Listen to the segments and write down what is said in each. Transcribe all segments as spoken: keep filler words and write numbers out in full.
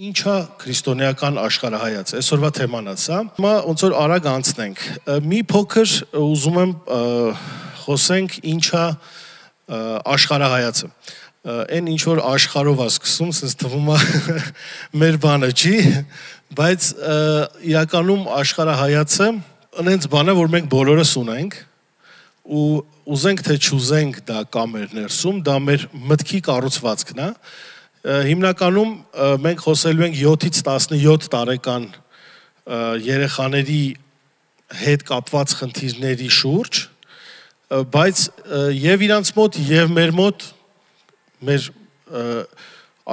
Ինչա քրիստոնեական աշխարհայացը, այսօրվա թեման է սա։ Հիմա ոնց որ արագ անցնենք։ Մի փոքր ուզում եմ խոսենք ինչա աշխարհայացը։ Այն ինչ որ աշխարհով է սկսում, sense թվում է մեր բանը չի, բայց իրականում աշխարհայացը այնց բան է, որ մենք բոլորս ունենք ու ուզենք թե չուզենք դա կա մեր ներսում, դա մեր մտքի կառուցվածքն է։ Հիմնականում մենք խոսելու ենք յոթից տասնյոթ տարեկան երեխաների հետ կապված խնդիրների շուրջ, բայց եւ իրանց մոտ եւ մեր մոտ մեր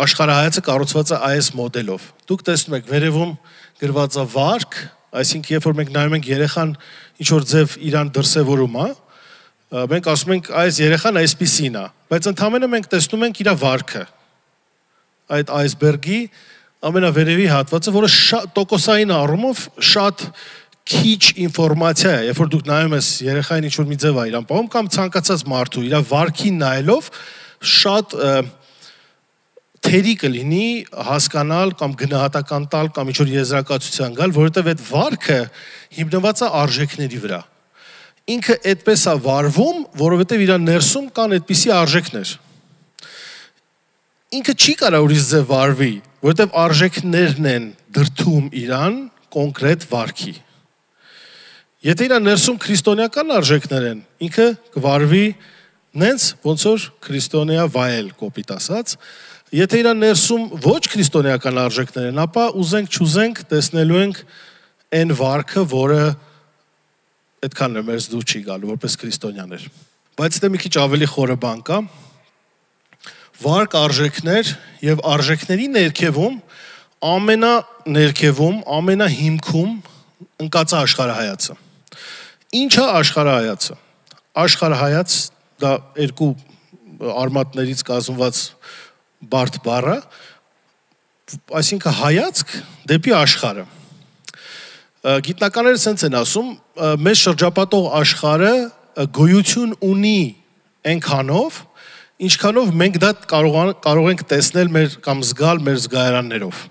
աշխարհայացը կառուցված է այս մոդելով։ Դուք տեսնում եք վերևում գրված է վարք, այսինքն երբ որ մենք նայում ենք երեխան ինչ որ ձև իրան դրսևորում է, մենք ասում ենք այս երեխան այսպիսին է, բայց ընդհանրապես մենք տեսնում ենք իր վարքը։ Այդ այսբերգի ամենավերևի հատվածը, որը տոկոսային առումով շատ քիչ ինֆորմացիա է, երբ որ դուք նայում ես երեխային ինչ-որ մի ձև է իրան պահում, կամ ցանկացած մարդու իր վարքին նայելով շատ թերի կլինի հասկանալ կամ գնահատական տալ կամ ինչ-որ եզրակացության գալ, որովհետև այդ վարքը հիմնված է արժեքների վրա։ Ինքը այդպես է վարվում, որովհետև իր ներսում կան այդպիսի արժեքներ։ Ինքը չի կարող ուրիշ ձև վարվի, որովհետև արժեքներն են դրդում իրան կոնկրետ վարքի։ Եթե իր ներսում քրիստոնեական արժեքներ են, ինքը կվարվի նենց ոնց որ քրիստոնեա վայել կոպիտ ասած, եթե իր ներսում ոչ քրիստոնեական արժեքներ են, ապա ուզենք չուզենք տեսնելու ենք այն վարքը, որը այդքան էլ մեզ դու չի գալու որպես քրիստոնյաներ։ Բայց դե մի քիչ ավելի խորը բան կա։ Վարք արժեքներ եւ արժեքների ներքևում ամենաներքևում, ամենահիմքում ընկած է աշխարհայացը։ Ինչ է աշխարհայացը։ Աշխարհայաց դա երկու արմատներից կազմված բարդ բառ է, այսինքն հայացք դեպի աշխարհը։ Գիտնականները sense են ասում, մեզ շրջապատող աշխարհը գոյություն ունի այնքանով, ինչքանով մենք դա կարող կարող ենք տեսնել մեր կամ զգալ մեր զգայարաններով։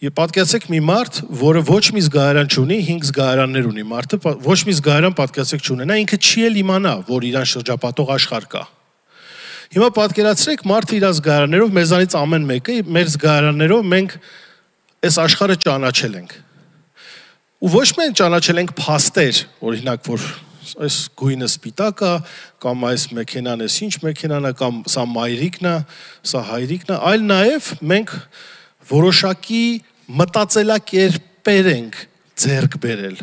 Եվ պատկերացեք մի մարդ, որը ոչ մի զգայարան չունի, հինգ զգայարաններ ունի մարդը, ոչ մի զգայարան պատկերացեք չունենա, ինքը չի էլ իմանա, որ իրան շրջապատող աշխարհ կա։ Հիմա պատկերացրեք մարդը իր զգայարաններով, մեզանից ամեն մեկը մեր զգայարաններով մենք այս աշխարհը ճանաչել ենք։ Ու ոչ միայն ճանաչել ենք փաստեր, օրինակ որ այս գույնը սպիտակ է, կամ այս մեքենան էս ինչ մեքենան է, կամ սա մայրիկն է, սա հայրիկն է, այլ նաև մենք որոշակի մտածելակերպեր ենք ձեռք բերել։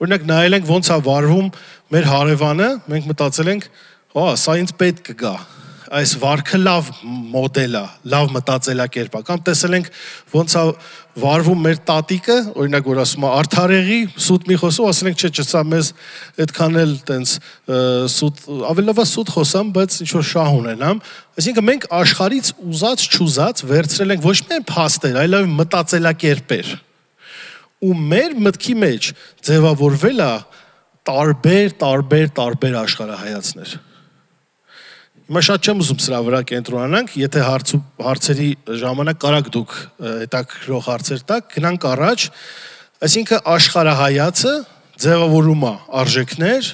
Օրինակ նայել ենք ոնց է վարվում մեր հարևանը, մենք մտածել ենք, հա, սա ինձ պետք կգա, այս վարքը լավ մոդել է, լավ մտածելակերպ է, կամ տեսել ենք ոնց է վարվում մեր տատիկը, օրինակ որ ասում է արդարեղի, սուտ մի խոսում, ասել ենք չէ, չէ, սա մեզ այդքան էլ տենց սուտ, ավելի լավ է սուտ խոսամ, բայց ինչ-որ շահ ունենամ, այսինքն մենք աշխարհից ուզած չուզած վերցրել ենք ոչ միայն փաստեր, այլև մտածելակերպեր։ Ու մեր մտքի մեջ ձևավորվել է տարբեր, տարբեր, տարբեր աշխարհայացներ։ Հիմա շատ չեմ ուզում սրա վրա կենտրոնանանք, եթե հարցերի ժամանակ կարաք դուք հետաքրքրող հարցեր տաք, գնանք առաջ, այսինքն աշխարհայացը ձևավորում է արժեքներ,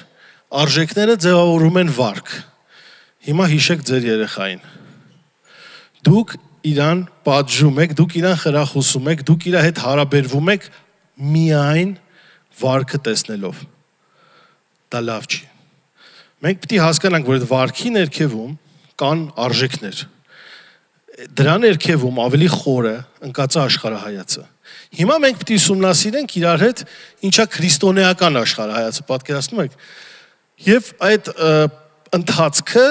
արժեքները ձևավորում են վարք։ Հիմա հիշեք ձեր երեխային։ Դուք իրան պատժում եք, դուք իրան խրախուսում եք, դուք իր հետ հարաբերվում եք միայն վարքը տեսնելով։ Դա լավ չի։ Մենք պետք է հասկանանք, որ այդ վարքի ներքևում կան արժեքներ։ Դրա ներքևում ավելի խորը ընկած է աշխարհայացը։ Հիմա մենք պետք է ուսումնասիրենք իրար հետ ինչա քրիստոնեական աշխարհայացը, պատկերացնում եք։ Եվ այդ ընթացքը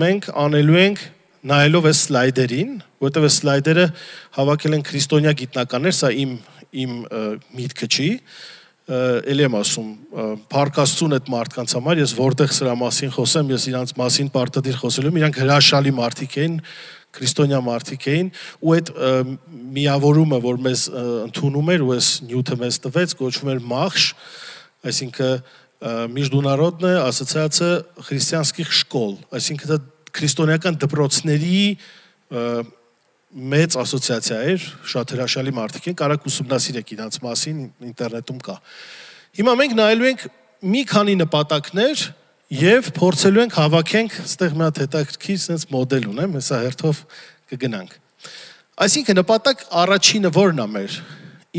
մենք անելու ենք նայելով այս սլայդերին, որովհետև այս սլայդերը հավաքել են քրիստոնյա գիտնականներ, սա իմ իմ միտքը չի։ Էլի եմ ասում, փառքաստուն այդ մարդկանց համար, ես որտեղ սրա մասին խոսեմ, ես իրանց մասին պարտադիր խոսելու եմ, իրանք հրաշալի մարդիկ էին, քրիստոնյա մարդիկ էին, ու այդ միավորումը, որ մեզ ընդունում էր, ու այս նյութը մեզ տվեց, կոչվում էր մախշ, այսինքն Միջդունարոդնե ասոցիացիա քրիստիանских շկոլ, այսինքն դա քրիստոնեական դպրոցների մեծ ասոցիացիա էր, շատ հրաշալի մարդիկ են, կարաք ուսումնասիրեք իրաց մասին, ինտերնետում կա։ Հիմա մենք նայելու ենք մի քանի նպատակներ եւ փորձելու ենք հավաքենք, այստեղ մի հատ հետաքրքիր sense մոդել ունեմ, հեսա հերթով կգնանք։ Այսինքն նպատակ առաջինը ո՞րն է մեր։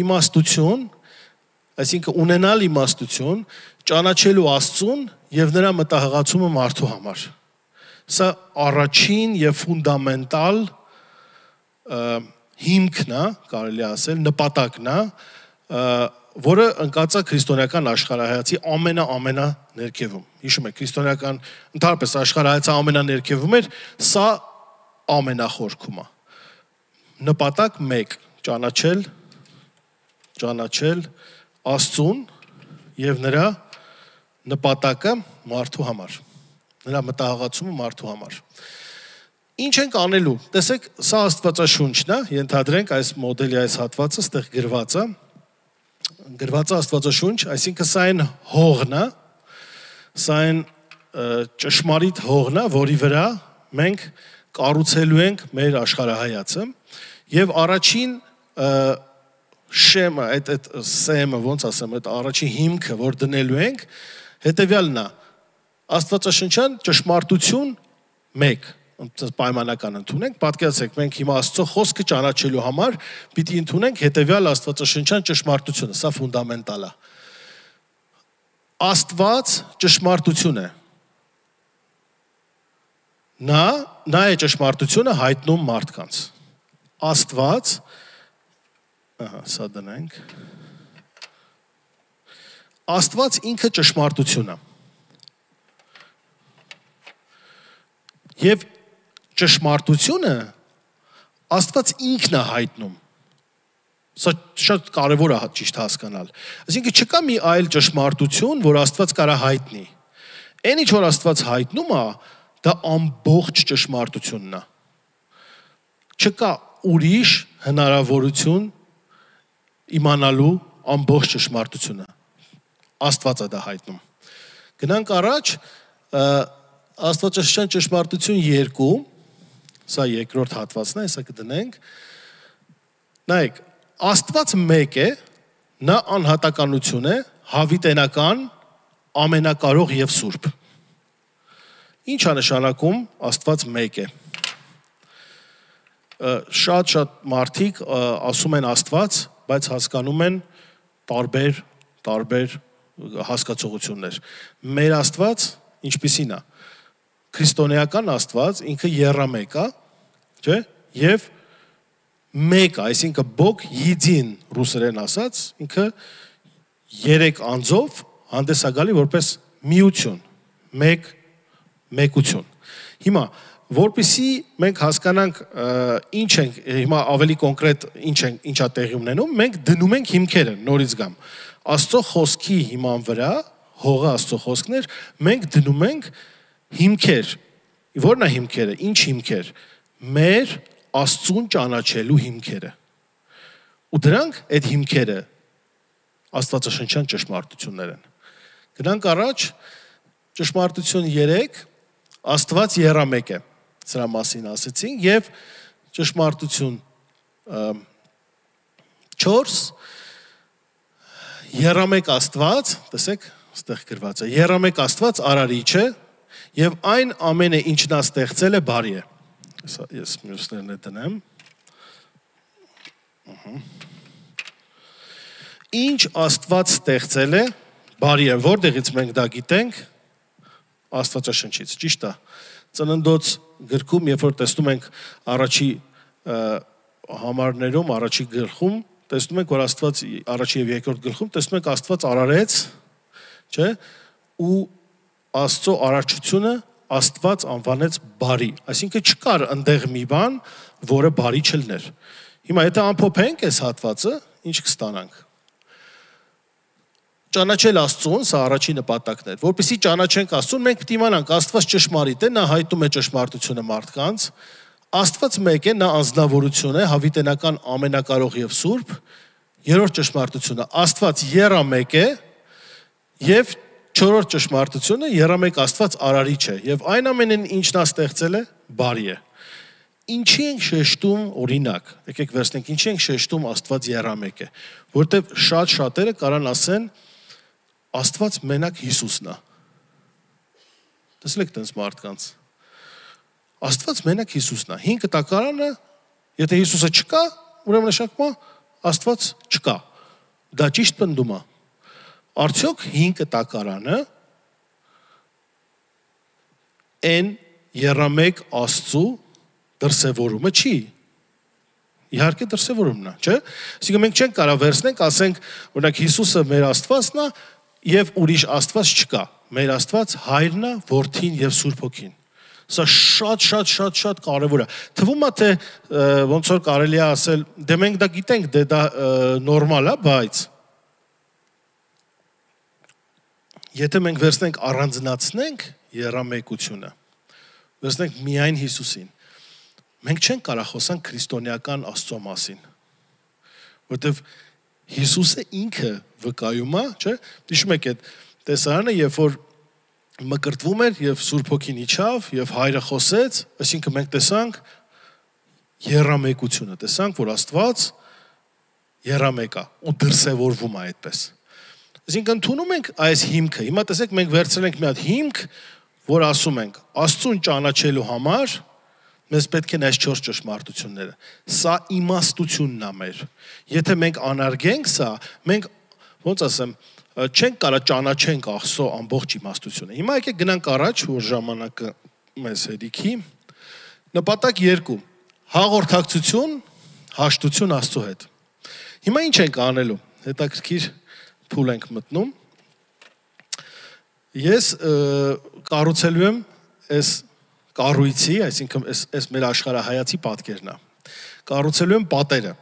Իմաստություն, այսինքն ունենալ իմաստություն, ճանաչելու Աստծուն եւ նրա մտահղացումը մարդու համար։ Սա առաջին եւ ֆունդամենտալ հիմքն է, կարելի ասել, նպատակն է, որը ընկած է քրիստոնեական աշխարհայացի ամենա-ամենա ներքևում։ Հիշում եք, քրիստոնեական ընդհանրապես աշխարհայացը ամենաներքևում էր, սա ամենախորքում է։ Նպատակ մեկ՝ ճանաչել, ճանաչել Աստծուն եւ նրա նպատակը մարդու համար, նրա մտահղացումը մարդու համար։ Ինչ ենք անելու։ Տեսեք, սա Աստվածաշունչն է, ենթադրենք այս մոդելի այս հատվածը ստեղ գրված է։ Գրված է Աստվածաշունչ, այսինքն սա այն հողն է, սա այն ճշմարիտ հողն է, որի վրա մենք կառուցելու ենք մեր աշխարհայացը, եւ առաջին շեմը, այդ այդ սեմը, ոնց ասեմ, այդ առաջին հիմքը, որ դնելու ենք, հետեւյալն է. Աստվածաշնչյան ճշմարտություն մեկ, պայմանական ընդունենք, պատկերացրեք, մենք հիմա Աստծո խոսքը ճանաչելու համար պիտի ընդունենք հետեւյալ աստվածաշնչյան ճշմարտությունը, սա ֆունդամենտալ է։ Աստված ճշմարտություն է։ Նա, նա է ճշմարտությունը հայտնում մարդկանց։ Աստված, ահա, սա դնենք։ Աստված ինքը ճշմարտություն է։ Եվ ճշմարտությունը Աստված ինքն է հայտնում։ Սա շատ կարևոր է ճիշտ հասկանալ։ Այսինքն չկա մի այլ ճշմարտություն, որ Աստված կարա հայտնի։ Այն ինչ որ Աստված հայտնում է, դա ամբողջ ճշմարտությունն է։ Չկա ուրիշ հնարավորություն իմանալու ամբողջ ճշմարտությունը։ Աստված է դա հայտնում։ Գնանք առաջ, Աստվածաշնչյան ճշմարտություն երկու, սա երկրորդ հատվածն է, հեսա կդնենք։ Նայեք, Աստված մեկ է, նա անհատականություն է, հավիտենական, ամենակարող եւ սուրբ։ Ինչ է նշանակում Աստված մեկ է։ Շատ-շատ մարդիկ ասում են Աստված, բայց հասկանում են տարբեր, տարբեր հասկացողություններ։ Մեր Աստված ինչպիսին է։ Քրիստոնեական Աստված ինքը եռամեկ է, չէ՞, եւ մեկ է, այսինքն Բոգ Յիդին ռուսերեն ասած, ինքը երեք անձով հանդես է գալի որպես միություն, մեկ մեկություն։ Հիմա որպեսզի մենք հասկանանք ինչ ենք, հիմա ավելի կոնկրետ ինչ են, ինչա տեղի ունենում, մենք դնում ենք հիմքերը, նորից գամ։ Աստծո խոսքի հիման վրա, հողը Աստծո խոսքներ, մենք դնում ենք հիմքեր։ Որն է հիմքերը, ինչ հիմքեր։ Մեր Աստծուն ճանաչելու հիմքերը։ Ու դրանք այդ հիմքերը Աստվածաշնչյան ճշմարտություններ են։ Գնանք առաջ, ճշմարտություն երեք, Աստված եռամեկ է։ Սրա մասին ասեցինք եւ ճշմարտություն չորս, եռամեկ Աստված, տեսեք, այստեղ գրված է, եռամեկ Աստված արարիչ է եւ այն ամենը ինչ նա ստեղծել է բարի է։ Ես մյուսներն է դնեմ։ Ինչ Աստված ստեղծել է բարի է, որտեղից մենք դա գիտենք։ Աստվածաշնչից, ճիշտ է։ Ծննդոց գրքում, երբ որ տեսնում ենք առաջի համարներում, առաջի գլխում, տեսնում ենք, որ Աստված առաջի եւ երկրորդ գլխում տեսնում ենք Աստված արարեց, չէ՞, ու Աստծո արարչությունը Աստված անվանեց բարի, այսինքն չկար այնտեղ մի բան, որը բարի չլներ։ Հիմա եթե ամփոփենք այս հատվածը, ինչ կստանանք։ Ճանաչել Աստծուն, սա առաջի նպատակն է։ Որպեսզի ճանաչենք Աստծուն, մենք պետք է իմանանք Աստված ճշմարիտ է, նա հայտնում է ճշմարտությունը մարդկանց։ Աստված մեկ է, նա անձնավորություն է, հավիտենական, ամենակարող եւ սուրբ։ Երրորդ ճշմարտությունը Աստված եռամեկ է եւ չորրորդ ճշմարտությունը եռամեկ Աստված արարիչ է եւ այն ամենին ինչ նա ստեղծել է բարի է։ Ինչի ենք շեշտում օրինակ, եկեք վերցնենք, ինչի ենք շեշտում Աստված եռամեկ է, որտեվ շատ շատերը կարան ասեն Աստված մենակ Հիսուսն է։ Տեսեք տենց մարդկանց։ Աստված մենակ Հիսուսն է։ հինգ կտակարանը, եթե Հիսուսը չկա, ուրեմն նշանակում է Աստված չկա։ Դա ճիշտ պնդում է։ Արդյոք հինգ կտակարանը են եռամեկ Աստծու դրսևորումը չի։ Իհարկե դրսևորումն է, չէ՞։ Այսինքն մենք չենք կարող վերցնենք, ասենք, օրինակ Հիսուսը մեր Աստվածն է եւ ուրիշ Աստված չկա։ Մեր Աստված Հայրն է, Որդին եւ Սուրբ Հոգին։ Սա շատ շատ շատ շատ կարևոր է։ Թվում է թե ոնց որ կարելի է ասել, դե մենք դա գիտենք, դե դա նորմալ է, բայց եթե մենք վերցնենք առանձնացնենք եռամեկությունը, վերցնենք միայն Հիսուսին, մենք չենք կարող խոսանք քրիստոնեական Աստծո մասին, որովհետև Հիսուսը ինքը վկայում է, չէ՞։ Հիշում եք այդ տեսարանը, երբ որ մկրտվում էր եւ Սուրբ Հոգին իջավ եւ Հայրը խոսեց, այսինքն մենք տեսանք եռամեկությունը, տեսանք, որ Աստված եռամեկ է ու դրսևորվում է այդպես։ Այսինքն ընդունում ենք այս հիմքը։ Հիմա տեսեք, մենք վերցրել ենք մի հատ հիմք, որ ասում ենք Աստծուն ճանաչելու համար մեզ պետք են այս չորս ճշմարտությունները։ Սա իմաստությունն է մեր։ Եթե մենք անարգենք սա, մենք ոնց ասեմ, չենք կարող ճանաչենք Աստծո ամբողջ իմաստությունը։ Հիմա եկեք գնանք առաջ, որ ժամանակը մեզ հերիքի։ Նպատակ երկու. հաղորդակցություն, հաշտություն Աստծո հետ։ Հիմա ինչ ենք անելու։ Հետաքրքիր փուլ ենք մտնում։ Ես կառուցելու եմ այս կառույցի, այսինքն այս այս մեր աշխարհայացի պատկերն է։ Կառուցելու եմ պատերը։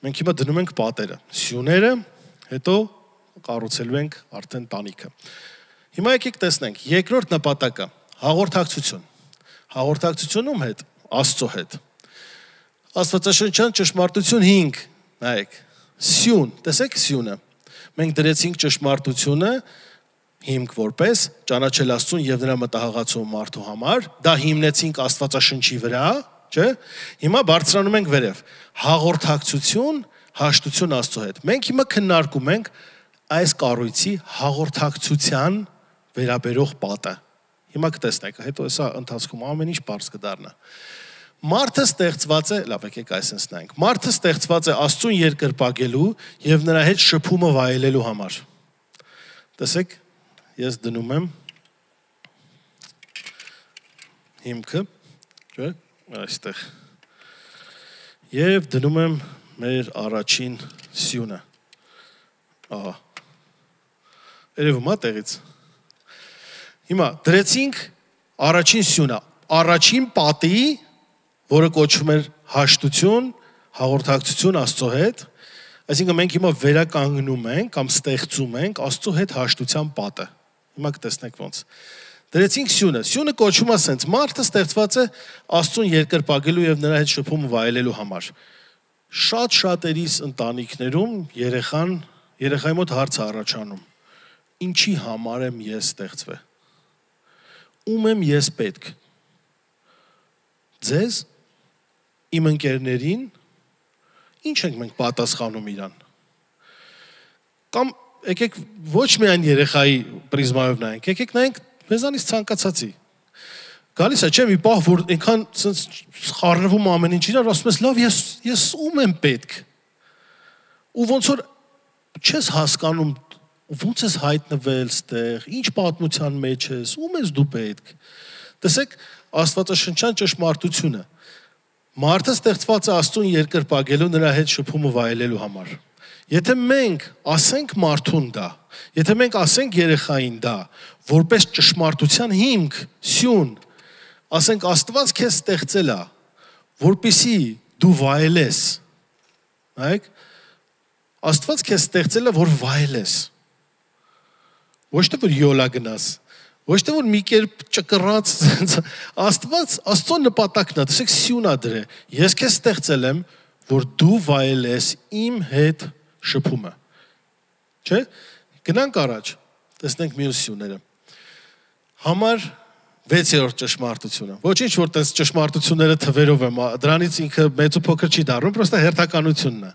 Մենք հիմա դնում ենք պատերը, սյուները, հետո կառուցելու ենք արդեն տանիքը։ Հիմա եկեք տեսնենք, երկրորդ նպատակը հաղորդակցություն։ Հաղորդակցությունում հետ, Աստծո հետ։ Աստվածաշնչյան ճշմարտություն հինգ, նայեք, սյուն, տեսեք սյունը։ Մենք դրեցինք ճշմարտությունը հիմք որպես ճանաչել Աստծուն եւ նրա մտահղացող մարդու համար, դա հիմնեցինք Աստվածաշնչի վրա, չէ՞։ Հիմա բարձրանում ենք վերև։ Հաղորդակցություն, հաշտություն Աստծո հետ։ Մենք հիմա քննարկում ենք այս կառույցի հաղորդակցության վերաբերող պատը։ Հիմա կտեսնեք, հետո հեսա ընթացքում ամեն ինչ բարձ կդառնա։ Մարդը ստեղծված է, լավ եկեք այսպես նայենք։ Մարդը ստեղծված է Աստծուն երկրպագելու եւ նրա հետ շփումը վայելելու համար։ Տեսեք, ես դնում եմ հիմքը, չէ՞, այստեղ։ Եվ դնում եմ մեր առաջին սյունը։ Ահա։ Երևում է տեղից։ Հիմա դրեցինք առաջին սյունը, առաջին պատի, որը կոչվում էր հաշտություն, հաղորդակցություն Աստծո հետ, այսինքն մենք հիմա վերականգնում ենք կամ ստեղծում ենք Աստծո հետ հաշտության պատը։ Հիմա կտեսնեք ոնց։ Դրեցինք սյունը, սյունը կոչվում է սենց, մարդը ստեղծված է Աստծուն երկրպագելու եւ նրա հետ շփումը վայելելու համար։ Շատ շատերիս ընտանիքներում երեխան, երեխայի մոտ հարց է առաջանում. ինչի համար եմ ես ստեղծվել։ Ում եմ ես պետք։ Ձեզ, իմ ընկերներին, ինչ ենք մենք պատասխանում իրան։ Կամ եկեք ոչ միայն երեխայի պրիզմայով նայենք, եկեք նայենք մեզանից ցանկացածի։ Գալիս է, չէ՞, մի պահ, որ այնքան խառնվում ամեն ինչ իրար, ասում ես, լավ, ես ես ում եմ պետք։ Ու ոնց որ չես հասկանում, ոնց ես հայտնվել ստեղ, ինչ պատմության մեջ ես, ում ես դու պետք։ Տեսեք, Աստվածաշնչյան ճշմարտությունը։ Մարդը ստեղծված է Աստծուն երկրպագելու, նրա հետ շփումը վայելելու համար։ Եթե մենք ասենք մարդուն դա, եթե մենք ասենք երեխային դա, որպես ճշմարտության հիմք, սյուն, ասենք Աստված քեզ ստեղծել է, որպեսզի դու վայելես։ Նայեք, Աստված քեզ ստեղծել է, որ վայելես։ Ոչ թե որ յոլա գնաս, ոչ թե որ մի կերպ ճկռած, Աստված, Աստծո նպատակն է, տեսեք սյունա դրե։ Ես քեզ ստեղծել եմ, որ դու վայելես իմ հետ շփումը։ Չէ՞։ Գնանք առաջ, տեսնենք մյուս սյուները։ Համար վեցերորդ ճշմարտությունը։ Ոչինչ որ տես ճշմարտությունները թվերով եմ, դրանից ինքը մեծ ու փոքր չի դառնում, պրոստը հերթականությունն է։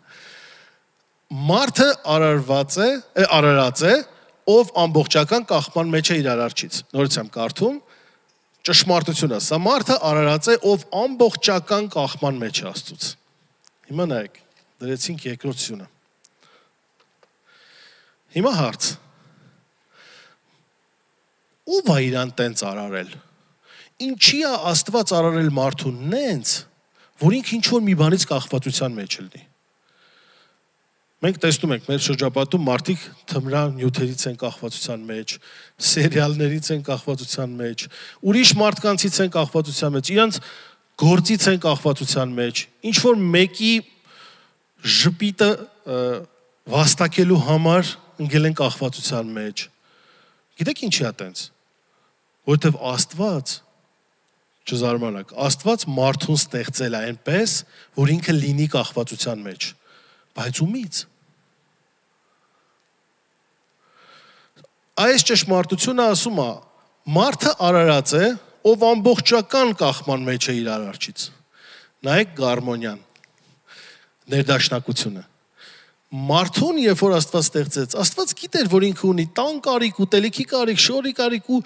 Մարդը արարված է, արարած է, ով ամբողջական կախման մեջ է իր արարչից։ Նորից եմ կարդում, ճշմարտությունը, սա մարդը արարած է, ով ամբողջական կախման մեջ է Աստծուց։ Հիմա նայեք, դրեցինք երկրորդությունը։ Հիմա հարց։ Ո՞վ է իրան տենց արարել։ Ինչի է Աստված արարել մարդուն նենց, որ ինքը ինչ-որ մի բանից կախվածության մեջ լինի։ Մենք տեսնում ենք մեր շրջապատում մարդիկ թմրանյութերից են կախվածության մեջ, սերիալներից են կախվածության մեջ, ուրիշ մարդկանցից են կախվածության մեջ, իրանց գործից են կախվածության մեջ, ինչ-որ մեկի ժպիտը վաստակելու համար ընկել են կախվածության մեջ։ Գիտեք ինչի է տենց։ Որտեվ Աստված, չզարմանաք, Աստված մարդուն ստեղծել է այնպես, որ ինքը լինի կախվածության մեջ, բայց ումից։ Այս ճշմարտությունը ասում է, մարդը արարած է, ով ամբողջական կախման մեջ է իր արարչից։ Նայեք Գարմոնյան, ներդաշնակությունը։ Մարդուն, երբ որ Աստված ստեղծեց, Աստված գիտեր, որ ինքը ունի տան կարիք, ուտելիքի կարիք, շորի կարիք ու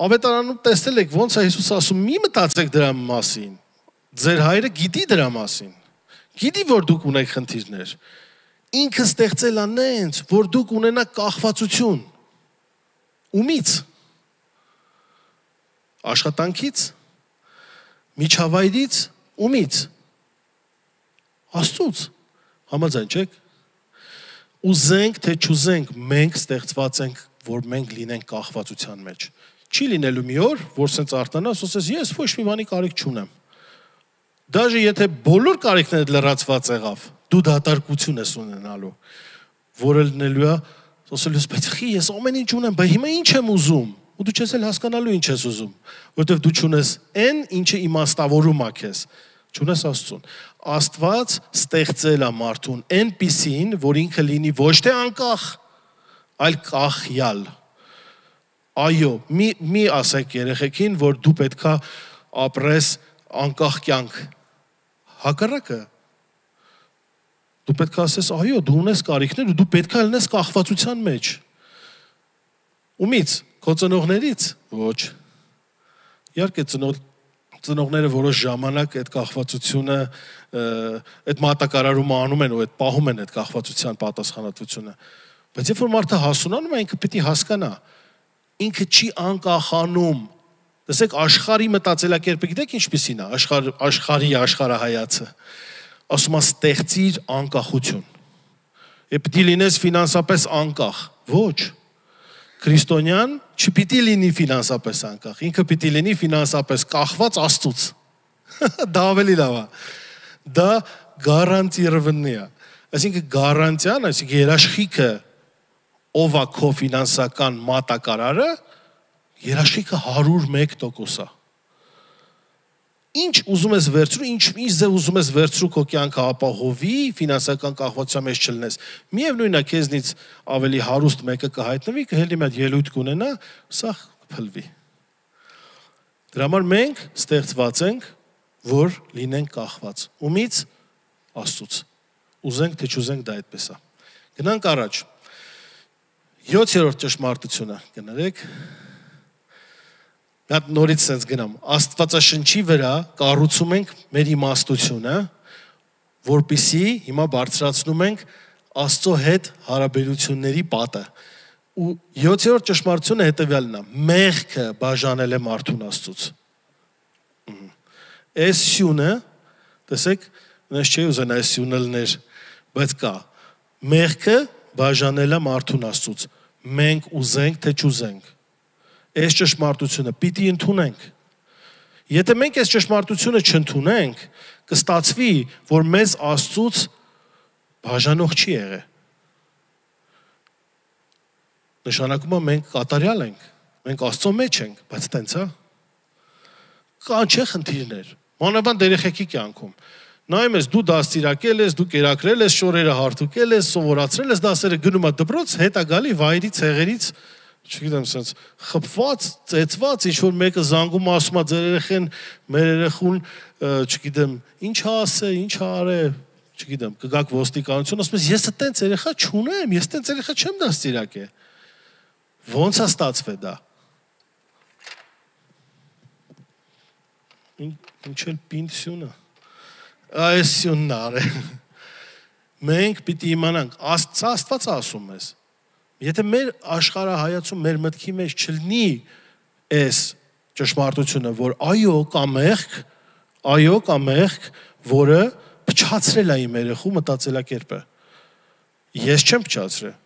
ավետարանում տեսել եք ոնց է Հիսուս ասում, մի մտածեք դրա մասին։ Ձեր հայրը գիտի դրա մասին։ Գիտի, որ դուք ունեք խնդիրներ։ Ինքը ստեղծել է նենց, որ դուք ունենաք կախվածություն։ Ումից։ Աշխատանքից, միջավայրից, ումից։ Աստծուց։ Համաձայն չեք։ Ուզենք, թե չուզենք, մենք ստեղծված ենք, որ մենք լինենք կախվածության մեջ։ Չի լինելու մի օր, որ սենց արտանաս, ասես, ես ոչ մի բանի կարիք չունեմ։ Դաժե եթե բոլոր կարիքներդ լրացված եղավ, դու դատարկություն ես ունենալու, որը լինելու է, ասելուս, բայց խի, ես ամեն ինչ ունեմ, բայց հիմա ինչ եմ ուզում, ու դու չես էլ հասկանալու ինչ ես ուզում, որտեվ դու չունես այն, ինչը իմաստավորում է քեզ, չունես Աստծուն։ Աստված ստեղծել է մարդուն այնպիսին, որ ինքը լինի ոչ թե անկախ, այլ կախյալ։ Այո, մի, մի ասեք երեխեքին, որ դու պետքա ապրես անկախ կյանք։ Հակառակը։ Դու պետքա ասես, այո, դու ունես կարիքներ ու դու պետքա լինես կախվածության մեջ։ Ումից, քո ծնողներից, ոչ։ Իհարկե ծնող ծնողները որոշ ժամանակ այդ կախվածությունը, այդ մատակարարումը անում են ու այդ պահում են այդ կախվածության պատասխանատվությունը։ Բայց երբ որ մարդը հասունանում է, ինքը պետք է հասկանա, ինքը չի անկախանում։ Տեսեք, աշխարհի մտածելակերպը գիտեք ինչպիսին է, աշխարհ աշխարհի աշխարհայացը։ Ասում է ստեղծիր անկախություն։ Եվ պետք է լինես ֆինանսապես անկախ։ Ոչ։ Քրիստոնյան չպիտի լինի ֆինանսապես անկախ, ինքը պիտի լինի ֆինանսապես կախված Աստծուց։ Դա ավելի լավ է։ Դա գարանտիրованный է։ Այսինքն գարանտիան, այսինքն երաշխիքը ով է քո ֆինանսական մատակարարը, երաշխիքը հարյուր մեկ տոկոս է։ Ինչ ուզում ես վերցրու, ինչ ինչ ձև ուզում ես վերցրու քո կյանքը ապահովի, ֆինանսական կախվածության մեջ չլինես։ Միևնույնն է, քեզնից ավելի հարուստ մեկը կհայտնվի, կհելի մի հատ ելույթ կունենա, սա կփլվի։ Դրա համար մենք ստեղծված ենք, որ լինենք կախված։ Ումից Աստծուց։ Ուզենք թե չուզենք դա այդպես է։ Գնանք առաջ։ յոթերորդ ճշմարտությունը, կներեք։ Նա նորից sense գնամ, Աստվածաշնչի վրա կառուցում ենք մեր իմաստությունը, որպեսզի հիմա բարձրացնում ենք Աստծո հետ հարաբերությունների պատը։ Ու յոթերորդ ճշմարտությունը հետևյալն է. մեղքը բաժանել է մարդուն Աստծուց։ Այս սյունը, տեսեք, նես չի ուզեն այս սյունը լներ, բայց կա։ Մեղքը բաժանել է մարդուն Աստծուց։ Մենք ուզենք թե չուզենք։ Այս ճշմարտությունը պիտի ընդունենք։ Եթե մենք այս ճշմարտությունը չընդունենք, կստացվի, որ մեզ Աստծուց բաժանող չի եղել։ Նշանակում է մենք կատարյալ ենք, մենք Աստծո մեջ ենք, բայց տենց է։ Կան չէ խնդիրներ։ Մանավանդ երեխեքի կյանքում։ Նայում ես, դու դաստիարակել ես, դու կերակրել ես, շորերը հարթուկել ես, սովորացրել ես, դասերը գնում է դպրոց, հետա գալի վայրից, հեղերից չգիտեմ, sense խփված, ծեծված, ինչ որ մեկը զանգում ասում է ձեր երեխեն, մեր երեխուն, չգիտեմ, ինչ ասե, ինչ արե, չգիտեմ, կգաք ոստիկանություն, ասում ես, ես այտենց երեխա չունեմ, ես այտենց երեխա չեմ դաստիարակե։ Ոնց է ստացվել դա։ Ինչ էլ պինսյունը։ Այս սյունն արե։ Մենք պիտի իմանանք, Աստված ասում ես։ Եթե մեր աշխարհայացում մեր մտքի մեջ չլինի այս ճշմարտությունը, որ այո կա մեղք, այո կա մեղք, որը փչացրել է իմ երեխու մտածելակերպը։ Ես չեմ փչացրել։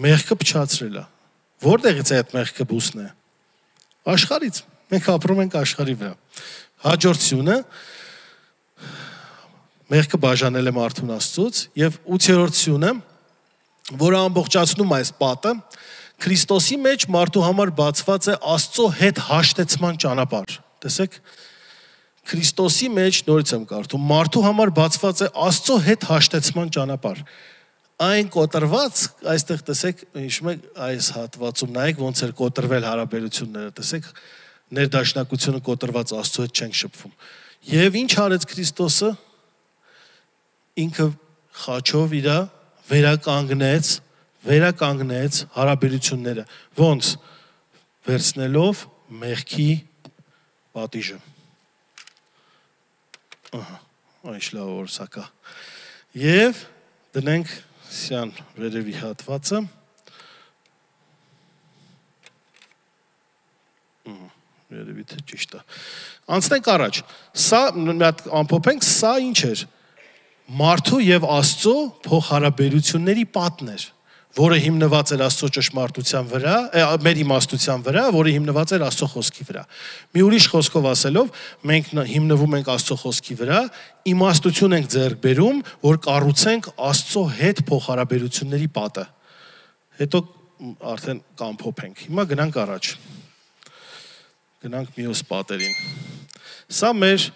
Մեղքը փչացրել է։ Որտեղից է այդ մեղքը բուսն է։ Աշխարհից։ Մենք ապրում ենք աշխարհի վրա։ Հաջորդությունը մեղքը բաժանել է մարդուն Աստծուց եւ ութերորդ սյունը, որը ամբողջացնում է այս պատը, Քրիստոսի մեջ մարդու համար բացված է Աստծո հետ հաշտեցման ճանապարհ։ Տեսեք, Քրիստոսի մեջ նորից եմ կարդում, մարդու համար բացված է Աստծո հետ հաշտեցման ճանապարհ։ Այն կոտրված, այստեղ տեսեք, հիշում եք այս հատվածում նայեք ոնց էր կոտրվել հարաբերությունները, տեսեք, ներդաշնակությունը կոտրված Աստծո հետ չենք շփվում։ Եվ ինչ արեց Քրիստոսը։ Ինքը խաչով իր վերականգնեց, վերականգնեց հարաբերությունները, ոնց վերցնելով մեղքի պատիժը։ Ահա, այս լավ օրսակա։ Եվ դնենք սյան վերևի հատվածը։ Վերևի թե ճիշտ է։ Անցնենք առաջ։ Սա մի հատ ամփոփենք, սա ինչ էր։ Մարդու եւ Աստծո փոխհարաբերությունների պատն էր, որը հիմնված էր Աստծո ճշմարտության վրա, մեր իմաստության վրա, որը հիմնված էր Աստծո խոսքի վրա։ Մի ուրիշ խոսքով ասելով, մենք հիմնվում ենք Աստծո խոսքի վրա, իմաստություն ենք ձեռք բերում, որ կառուցենք Աստծո հետ փոխհարաբերությունների պատը։ Հետո արդեն կամփոփենք։ Հիմա գնանք առաջ։ Գնանք մյուս պատերին։ Սա մեր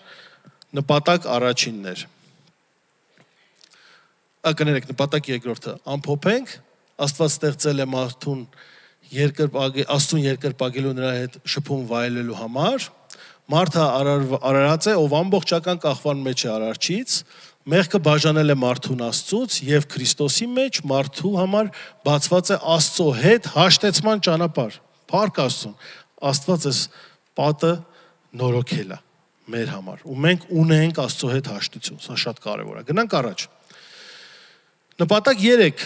նպատակ առաջինն էր։ Ակներեք նպատակ երկրորդը ամփոփենք, Աստված ստեղծել է մարդուն Աստծուն երկրպագելու նրա հետ շփում վայելելու համար, մարդը արարած է, ով ամբողջական կախվան մեջ է արարչից, մեղքը բաժանել է մարդուն Աստծուց եւ Քրիստոսի մեջ մարդու համար բացված է Աստծո հետ հաշտեցման ճանապարհ։ Փառք Աստծուն, Աստված էս պատը նորոգել է մեր համար, ու մենք ունենք Աստծո հետ հաշտություն, սա շատ կարևոր է։ Գնանք առաջ։ Նպատակ երեք,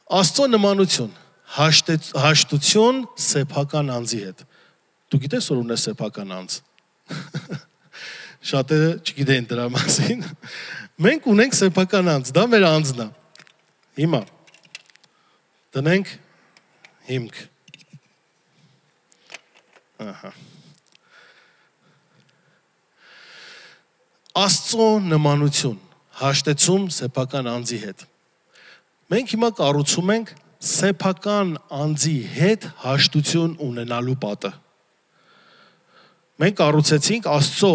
Աստծո նմանություն, հաշտություն սեփական անձի հետ։ Դու գիտես որ ունես սեփական անձ։ Շատերը չգիտեն դրա մասին։ Մենք ունենք սեփական անձ, դա մեր անձն է։ Հիմա դնենք հիմք։ Ահա։ Աստծո նմանություն հաշտեցում սեփական անձի հետ։ Մենք հիմա կառուցում ենք սեփական անձի հետ հաշտություն ունենալու պատը։ Մենք կառուցեցինք Աստծո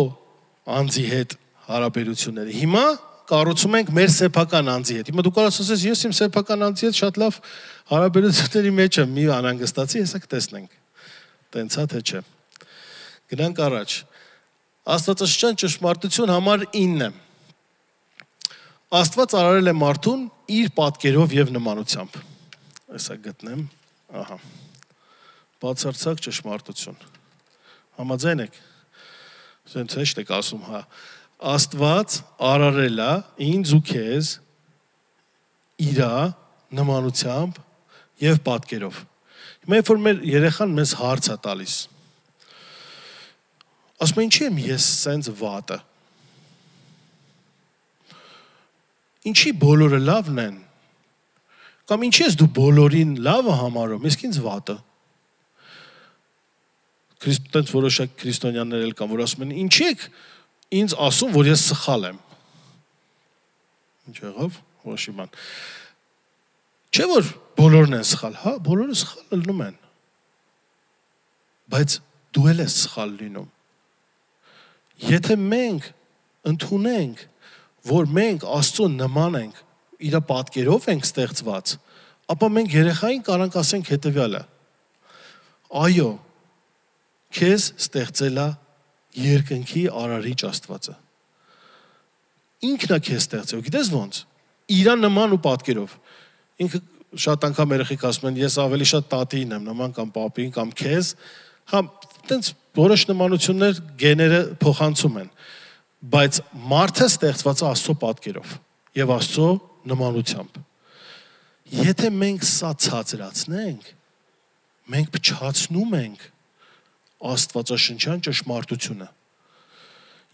անձի հետ հարաբերությունները։ Հիմա կառուցում ենք մեր սեփական անձի հետ։ Հիմա դու կարող ասես, ես իմ սեփական անձի հետ շատ լավ հարաբերությունների մեջ եմ, մի անհանգստացի, հեսա կտեսնենք։ Տենց է թե չէ։ Գնանք առաջ։ Աստվածաշնչյան ճշմարտություն համար ինը։ Աստված արարել է մարդուն իր պատկերով եւ նմանությամբ։ Այսա գտնեմ, ահա։ Բացարձակ ճշմարտություն։ Համաձայն եք։ Սենց հեշտ եք ասում, հա։ Աստված արարել է ինձ ու քեզ իր նմանությամբ եւ պատկերով։ Հիմա երբ որ մեր երեխան մեզ հարց է տալիս, ասում է ինչի եմ ես սենց վատը։ Ինչի բոլորը լավն են։ Կամ ինչի ես դու բոլորին լավը համարում, իսկ ինձ վատը։ Քրիստոնյաներ որոշակ քրիստոնյաներ էլ կան, որ ասում են, ինչի եք ինձ ասում, որ ես սխալ եմ։ Ինչ եղավ, որոշի բան։ Չէ որ բոլորն են սխալ, հա, բոլորը սխալ լինում են։ Բայց դու էլ ես սխալ լինում։ Եթե մենք ընդունենք, որ մենք Աստծո նման ենք, իր պատկերով ենք ստեղծված, ապա մենք երեխային կարանք ասենք հետևյալը. այո, քեզ ստեղծել է երկնքի արարիչ Աստվածը։ Ինքն է քեզ ստեղծել, գիտես ոնց։ Իր նման ու պատկերով։ Ինքը շատ անգամ երեխեք ասում են, ես ավելի շատ տատին եմ նման կամ պապին կամ քեզ, հա, տենց որոշ նմանություններ գեները փոխանցում են, բայց մարդը ստեղծված է Աստծո պատկերով եւ Աստծո նմանությամբ։ Եթե մենք սա ցածրացնենք, մենք փչացնում ենք Աստվածաշնչյան ճշմարտությունը։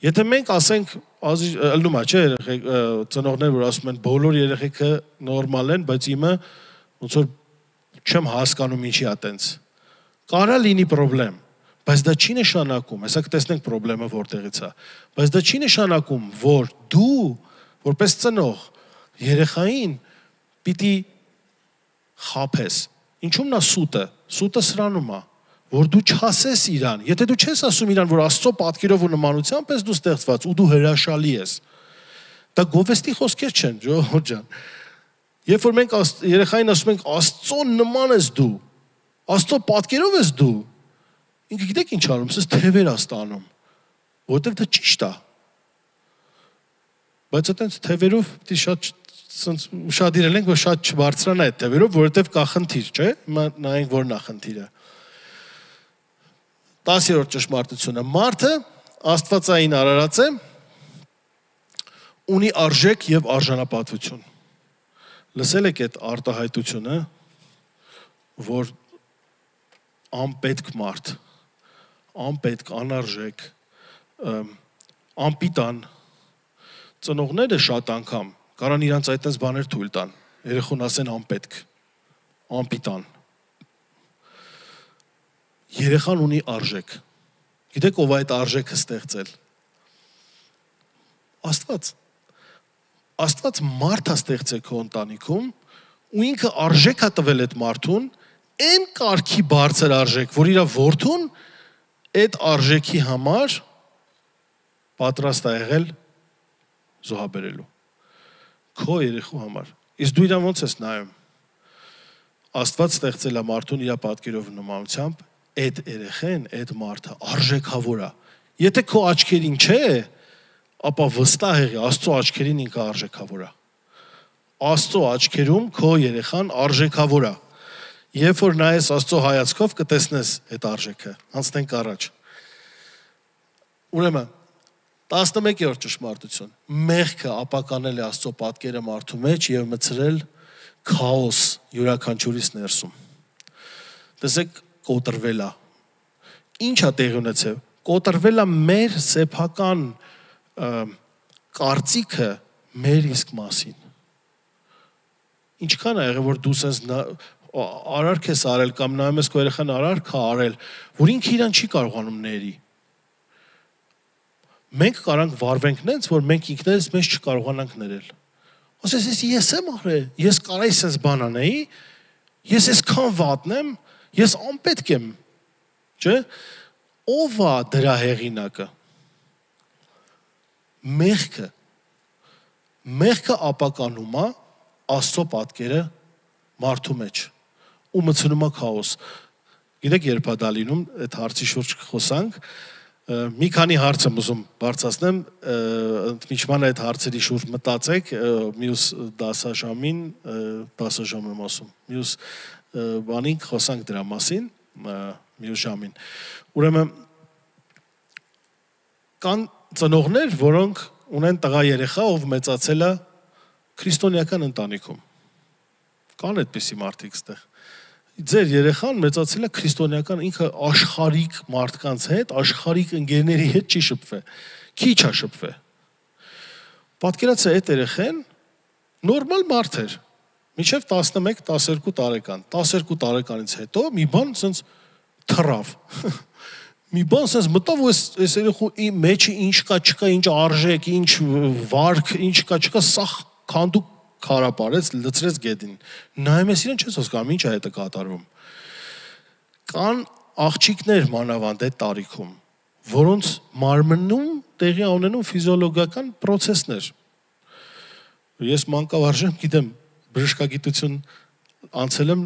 Եթե մենք ասենք, ըլնում է, չէ, երեխեք, ծնողներ, որ ասում են, բոլոր երեխեքը նորմալ են, բայց իմը ոնց որ չեմ հասկանում ինչի է տենց։ Կարա լինի խնդրեմ, բայց դա չի նշանակում, հեսա կտեսնենք խնդրեմը որտեղից է, բայց դա չի նշանակում, որ դու որպես ծնող երեխային պիտի խաբես։ Ինչու՞մն է սուտը։ Սուտը սրանում է, որ դու չասես իրան։ Եթե դու չես ասում իրան, որ Աստծո պատկերով ու նմանությամբ ես դու ստեղծված ու դու հրաշալի ես, դա գովեստի խոսքեր չեն, ժողովուրդ ջան։ Երբ որ մենք երեխային ասում ենք Աստծո նման ես դու, Աստծո պատկերով ես դու, ինքը գիտեք ինչ անում, սես թևեր է ստանում, որովհետև դա ճիշտ է։ Բայց այտենց թևերով պիտի շատ ուշադիր ենք, որ շատ չբարձրանա այդ թևերով, որովհետև կա խնդիր, չէ՞։ Հիմա նայենք որն է խնդիրը։ տասերորդ ճշմարտությունը։ Մարդը Աստվածային արարած է, ունի արժեք եւ արժանապատվություն։ Լսել եք այդ արտահայտությունը, որ անպետք մարդ, անպետք, անարժեք, անպիտան, ծնողները շատ անգամ կարան իրանց այդպես բաներ թույլ տան, երեխուն ասեն անպետք, անպիտան։ Երեխան ունի արժեք։ Գիտեք ով այդ արժեքը ստեղծել։ Աստված։ Աստված մարդ է ստեղծել քո ընտանիքում ու ինքը արժեք է տվել այդ մարդուն, այն կարգի բարձր արժեք, որ իր որդուն այդ արժեքի համար պատրաստ է եղել զոհաբերելու։ Քո երեխու համար։ Իսկ դու իրան ոնց ես նայում։ Աստված ստեղծել է մարդուն իր պատկերով ու նմանությամբ, այդ երեխեն, այդ մարդը արժեքավոր է։ Եթե քո աչքերին չէ, ապա վստահ եղի, Աստծո աչքերին ինքը արժեքավոր է։ Աստծո աչքերում քո երեխան արժեքավոր է։ Երբ որ նայես Աստծո հայացքով կտեսնես այդ արժեքը։ Անցնենք առաջ։ Ուրեմն տասնմեկերորդ ճշմարտություն։ Մեղքը ապականել է Աստծո պատկերը մարդու մեջ եւ մցրել քաոս յուրաքանչյուրիս ներսում։ Տեսեք, կոտրվել է։ Ինչ է տեղի ունեցել։ Կոտրվել է մեր սեփական կարծիքը մեր իսկ մասին։ Ինչքան է եղել, որ դու սենց արարք ես արել կամ նայում ես քո երեխան արարք է արել, որ ինքը իրան չի կարողանում ների։ Մենք կարանք վարվենք նենց, որ մենք ինքներս մեզ չկարողանանք ներել։ Ասես ես եմ արել, ես կարայի սենց բան անեի, ես այսքան վատն եմ, ես անպետք եմ, չէ՞։ Ով է դրա հեղինակը։ Մեղքը։ Մեղքը ապականում է Աստծո պատկերը մարդու մեջ ու մցնում է քաոս։ Գիտեք երբ է դա լինում, այդ հարցի շուրջ խոսանք, մի քանի հարց եմ ուզում բարձրացնեմ, ընդմիջման այդ հարցերի շուրջ մտածեք, մյուս դասաժամին, դասաժամ եմ ասում, մյուս բանին խոսանք դրա մասին, մյուս ժամին։ Ուրեմն կան ծնողներ, որոնք ունեն տղա երեխա, ով մեծացել է քրիստոնեական ընտանիքում։ Կան այդպիսի մարդիկ ստեղ։ Ձեր երեխան մեծացել է քրիստոնեական, ինքը աշխարհիկ մարդկանց հետ, աշխարհիկ ընկերների հետ չի շփվել, քիչ է շփվել։ Պատկերացրեք այդ երեխան նորմալ մարդ էր, մինչև տասնմեկ տասներկու տարեկան, տասներկու տարեկանից հետո մի բան սենց թռավ։ Մի բան սենց մտավ ու այս երեխու մեջը ինչ կա, չկա, ինչ արժեք, ինչ վարք, ինչ կա, չկա, սա քանդու քարապարեց, լցրեց գետին։ Նայում ես իրեն չես հասկանում ինչ է հետը կատարվում։ Կան աղջիկներ մանավանդ այդ տարիքում, որոնց մարմնում տեղի ունենում ֆիզիոլոգիական process-ներ։ Ես մանկավարժ եմ, գիտեմ, բժշկագիտություն անցել եմ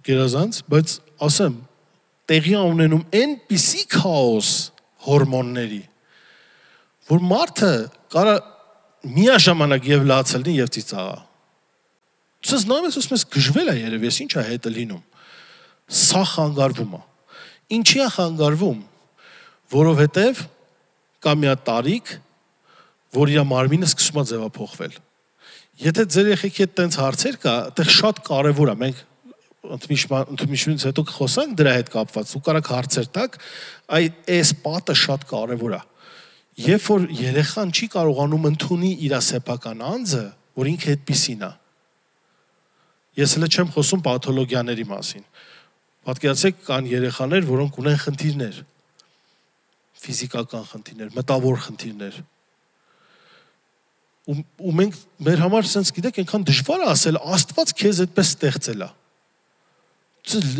գերազանց, բայց ասեմ, տեղի ունենում այնպիսի քաոս հորմոնների, որ մարդը կարա միաժամանակ եւ լացել լինի եւ ծիծաղա։ Ցույց նայում ես, ասում ես գժվել է երևի, ես ի՞նչ է հետը լինում։ Սա խանգարվում է։ Ինչի է խանգարվում, որովհետև կա մի հատ տարիք, որ իր մարմինը սկսում է ձևափոխվել։ Եթե ձեր երեխեքի հետ տենց հարցեր կա, այդտեղ շատ կարևոր է, մենք ընդմիջումից հետո խոսանք դրա հետ կապված, ու կարաք հարցեր տաք, այդ այս պատը շատ կարևոր է։ Երբ որ երեխան չի կարողանում ընդունի իր սեփական անձը, որ ինքը այդպիսին է։ Ես հենց չեմ խոսում պաթոլոգիաների մասին։ Պատկերացրեք, կան երեխաներ, որոնք ունեն խնդիրներ, ֆիզիկական խնդիրներ, մտավոր խնդիրներ։ Ու, ու մենք մեր համար sense գիտեք, այնքան դժվար է ասել, Աստված քեզ այդպես ստեղծել է։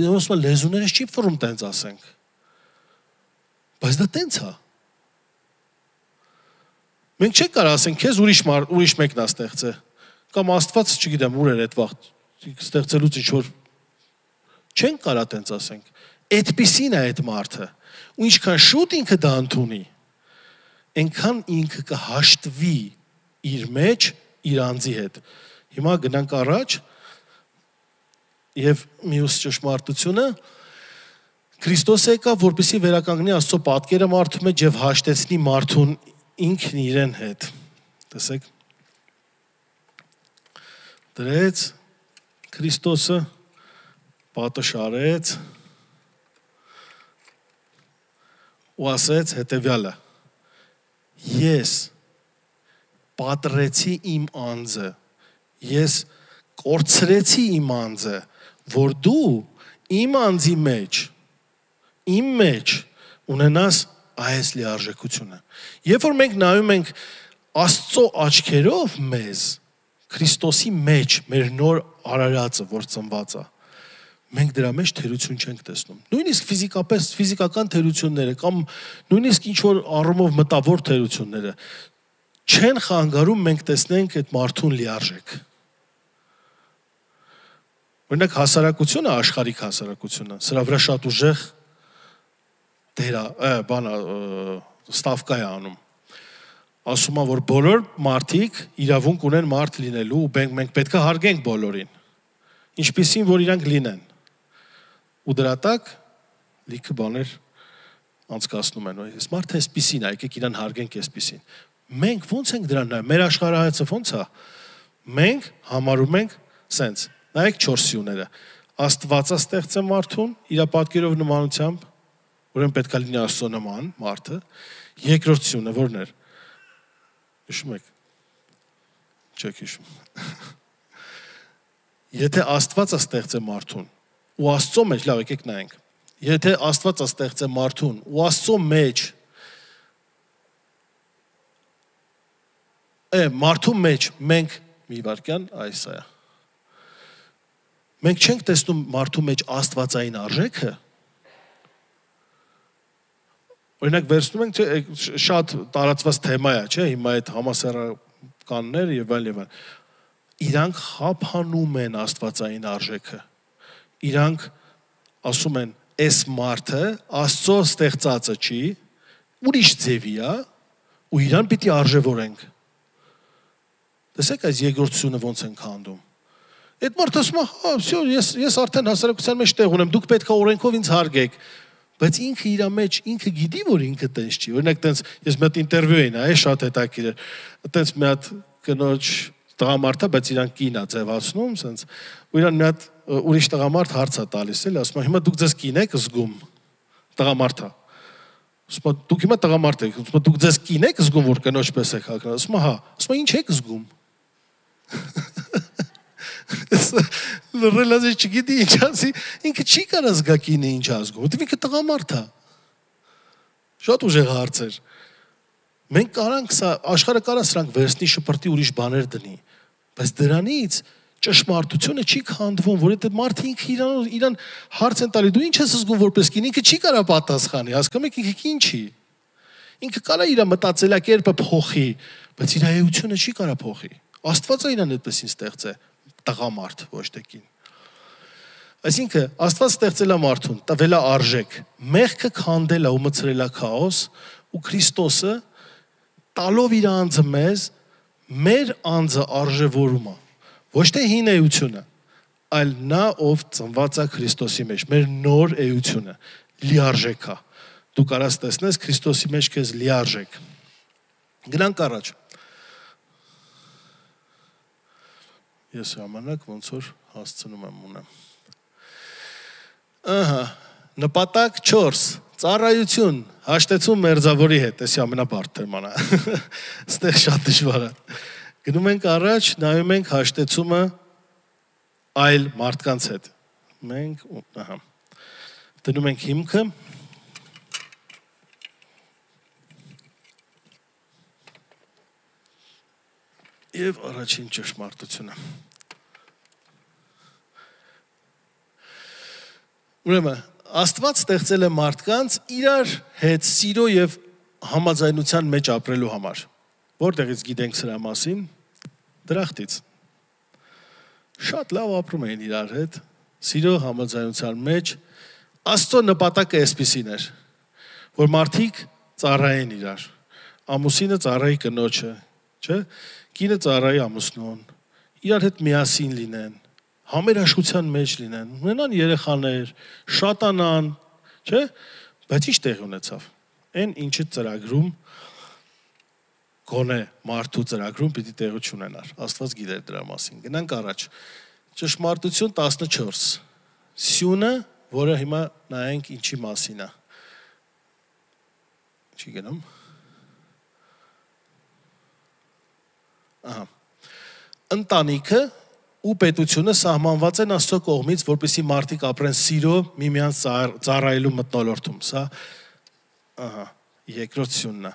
Ոսմա լեզուներս չի ֆորում տենց ասենք։ Բայց դա տենց է։ Մենք չենք կարող ասենք, քեզ ուրիշ ուրիշ մեկն է ստեղծել։ Կամ Աստված, չգիտեմ, ուր էր այդ վաղ ստեղծելուց ինչ որ չենք կարող տենց ասենք։ Այդպիսին է այդ մարդը։ Ու ինչքան շուտ ինքը դա ընդունի, այնքան ինքը կհաշտվի իր մեջ իր անձի հետ։ Հիմա գնանք առաջ եւ մյուս ճշմարտությունը Քրիստոսը եկա, որպեսզի վերականգնի Աստծո պատկերը մարդու մեջ եւ հաշտեցնի մարդուն ինքն իրեն հետ։ Տեսեք։ Դրեց Քրիստոսը պատը շարեց ու ասեց հետևյալը. Ես պատրեցի իմ անձը, ես կորցրեցի իմ անձը, որ դու իմ անձի մեջ, իմ մեջ ունենաս այս լիարժեքությունը։ Երբ որ մենք նայում ենք Աստծո աչքերով մեզ, Քրիստոսի մեջ, մեր նոր արարածը, որ ծնված է, մենք դրա մեջ թերություն չենք տեսնում։ Նույնիսկ ֆիզիկապես ֆիզիկական թերությունները կամ նույնիսկ ինչ որ առումով մտավոր թերությունները չեն խանգարում մենք տեսնենք այդ մարդուն լիարժեք։ Օրինակ հասարակությունը, աշխարհիկ հասարակությունը, սրա վրա շատ ուժեղ դերա, բանա ստավկա է անում։ Ասում է, որ բոլոր մարդիկ իրավունք ունեն մարդ լինելու ու մենք պետք է հարգենք բոլորին։ Ինչպիսին որ իրանք լինեն։ Ու դրա տակ լիքը բաներ անցկացնում են։ Այս մարդը էսպիսին է, եկեք իրան հարգենք էսպիսին։ Մենք ո՞նց ենք դրան նայում։ Մեր աշխարհայացը ո՞նց է։ Մենք համարում ենք սենց։ Նայեք չորս սյուները։ Աստվածը ստեղծե մարդուն իր պատկերով նմանությամբ, ուրեմն պետք է լինի Աստծո նման մարդը։ Երկրորդ սյունը ո՞րն էր։ Հիշում եք։ Չեք հիշում։ Եթե Աստվածը ստեղծե մարդուն ու Աստծո մեջ, լավ, եկեք նայենք։ Եթե Աստվածը ստեղծե մարդուն ու Աստծո մեջ է մարդու մեջ մենք մի վարքյան այս է։ Մենք չենք տեսնում մարդու մեջ աստվածային արժեքը։ Օրինակ վերցնում ենք, չէ, շատ տարածված թեմա է, չէ, հիմա այդ համասեռականներ եւ այլ եւ այլ։ Իրանք խափանում են աստվածային արժեքը։ Իրանք ասում են, այս մարդը Աստծո ստեղծածը չի, ուրիշ ձևի է, ու իրան պիտի արժևորենք։ Տեսեք այս երկրորդությունը ոնց են քանդում։ Այդ մարդը ասում է, հա, всё, ես ես արդեն հասարակության մեջ տեղ ունեմ, դուք պետք է օրենքով ինձ հարգեք։ Բայց ինքը իր մեջ, ինքը գիտի, որ ինքը տենց չի։ Օրինակ տենց ես մի հատ ինտերվյու էի նայել, շատ հետաքրքիր էր։ Տենց մի հատ կնոջ տղամարդ է, բայց իրան կին է ձևացնում, սենց։ Ու իրան մի հատ ուրիշ տղամարդ հարց է տալիս, էլի, ասում է, հիմա դուք ձեզ կին եք զգում։ Տղամարդ է։ Ասում է, դուք հիմա տղամարդ եք, ասում է, դուք ձեզ կին եք զգում, որ կնոջ պես եք հագնել։ Ասում է, հա։ Ասում է, ինչ եք զգում։ Լրելազի չգիտի ինչ ասի, ինքը չի կարա զգա կինը ինչ ազգում, որտեվ ինքը տղամարդ է։ Շատ ուժեղ հարց էր։ Մենք կարանք սա, աշխարհը կարա սրանք վերցնի շպրտի ուրիշ բաներ դնի, բայց դրանից ճշմարտությունը չի քանդվում, որ այդ մարդը ինքը իրան իրան հարց են տալի, դու ինչ ես զգում որպես կին, ինքը չի կարա պատասխանի, հասկանում եք, ինքը կին չի։ Ինքը կարա իր մտածելակերպը փոխի, բայց իր էությունը չի կարա փոխի։ Աստվածը իրան այդպեսին ստեղծե, տղամարդ, ոչ թե կին։ Այսինքն Աստված ստեղծել է մարդուն, տվել է արժեք։ Մեղքը քանդել է ու մցրել է քաոս, ու Քրիստոսը տալով իր անձը մեզ, մեր անձը արժևորում է։ Ոչ թե հին էությունը, այլ նա ով ծնված է Քրիստոսի մեջ, մեր նոր էությունը, լիարժեք է։ Դու կարաս տեսնես Քրիստոսի մեջ քեզ լիարժեք։ Գնանք առաջ։ Ես ժամանակ ոնց որ հասցնում եմ ունեմ։ Ահա, նպատակ չորս, ծառայություն, հաշտեցում մերձավորի հետ, էսի ամենաբարդ թեման է։ Ստեղ շատ դժվար է։ Գնում ենք առաջ, նայում ենք հաշտեցումը այլ մարդկանց հետ։ Մենք, ահա, դնում ենք հիմքը։ Եվ առաջին ճշմարտությունը։ Ուրեմն, Աստված ստեղծել է մարդկանց իրար հետ սիրո եւ համաձայնության մեջ ապրելու համար։ Որտեղից գիտենք սրա մասին? Դրախտից։ Շատ լավ ապրում էին իրար հետ, սիրո համաձայնության մեջ։ Աստծո նպատակը էսպիսին էր, որ մարդիկ ծառայեն իրար։ Ամուսինը ծառայի կնոջը, չէ՞։ Կինը ծառայի ամուսնուն, իրար հետ միասին լինեն, համերաշխության մեջ լինեն, ունենան երեխաներ, շատանան, չէ՞, բայց ինչ տեղ ունեցավ։ Այն ինչը ծրագրում գոնե մարդու ծրագրում պիտի տեղություն ունենար։ Աստված գիտեր դրա մասին։ Գնանք առաջ։ Ճշմարտություն տասնչորս։ Սյունը, որը հիմա նայենք ինչի մասին է։ Չի գնում։ Ահա։ Ընտանիքը ու պետությունը սահմանված են Աստծո կողմից, որպեսզի մարդիկ ապրեն սիրո, միմյանց ծառայելու մթնոլորտում։ Սա ահա, երկրորդ սյունն է։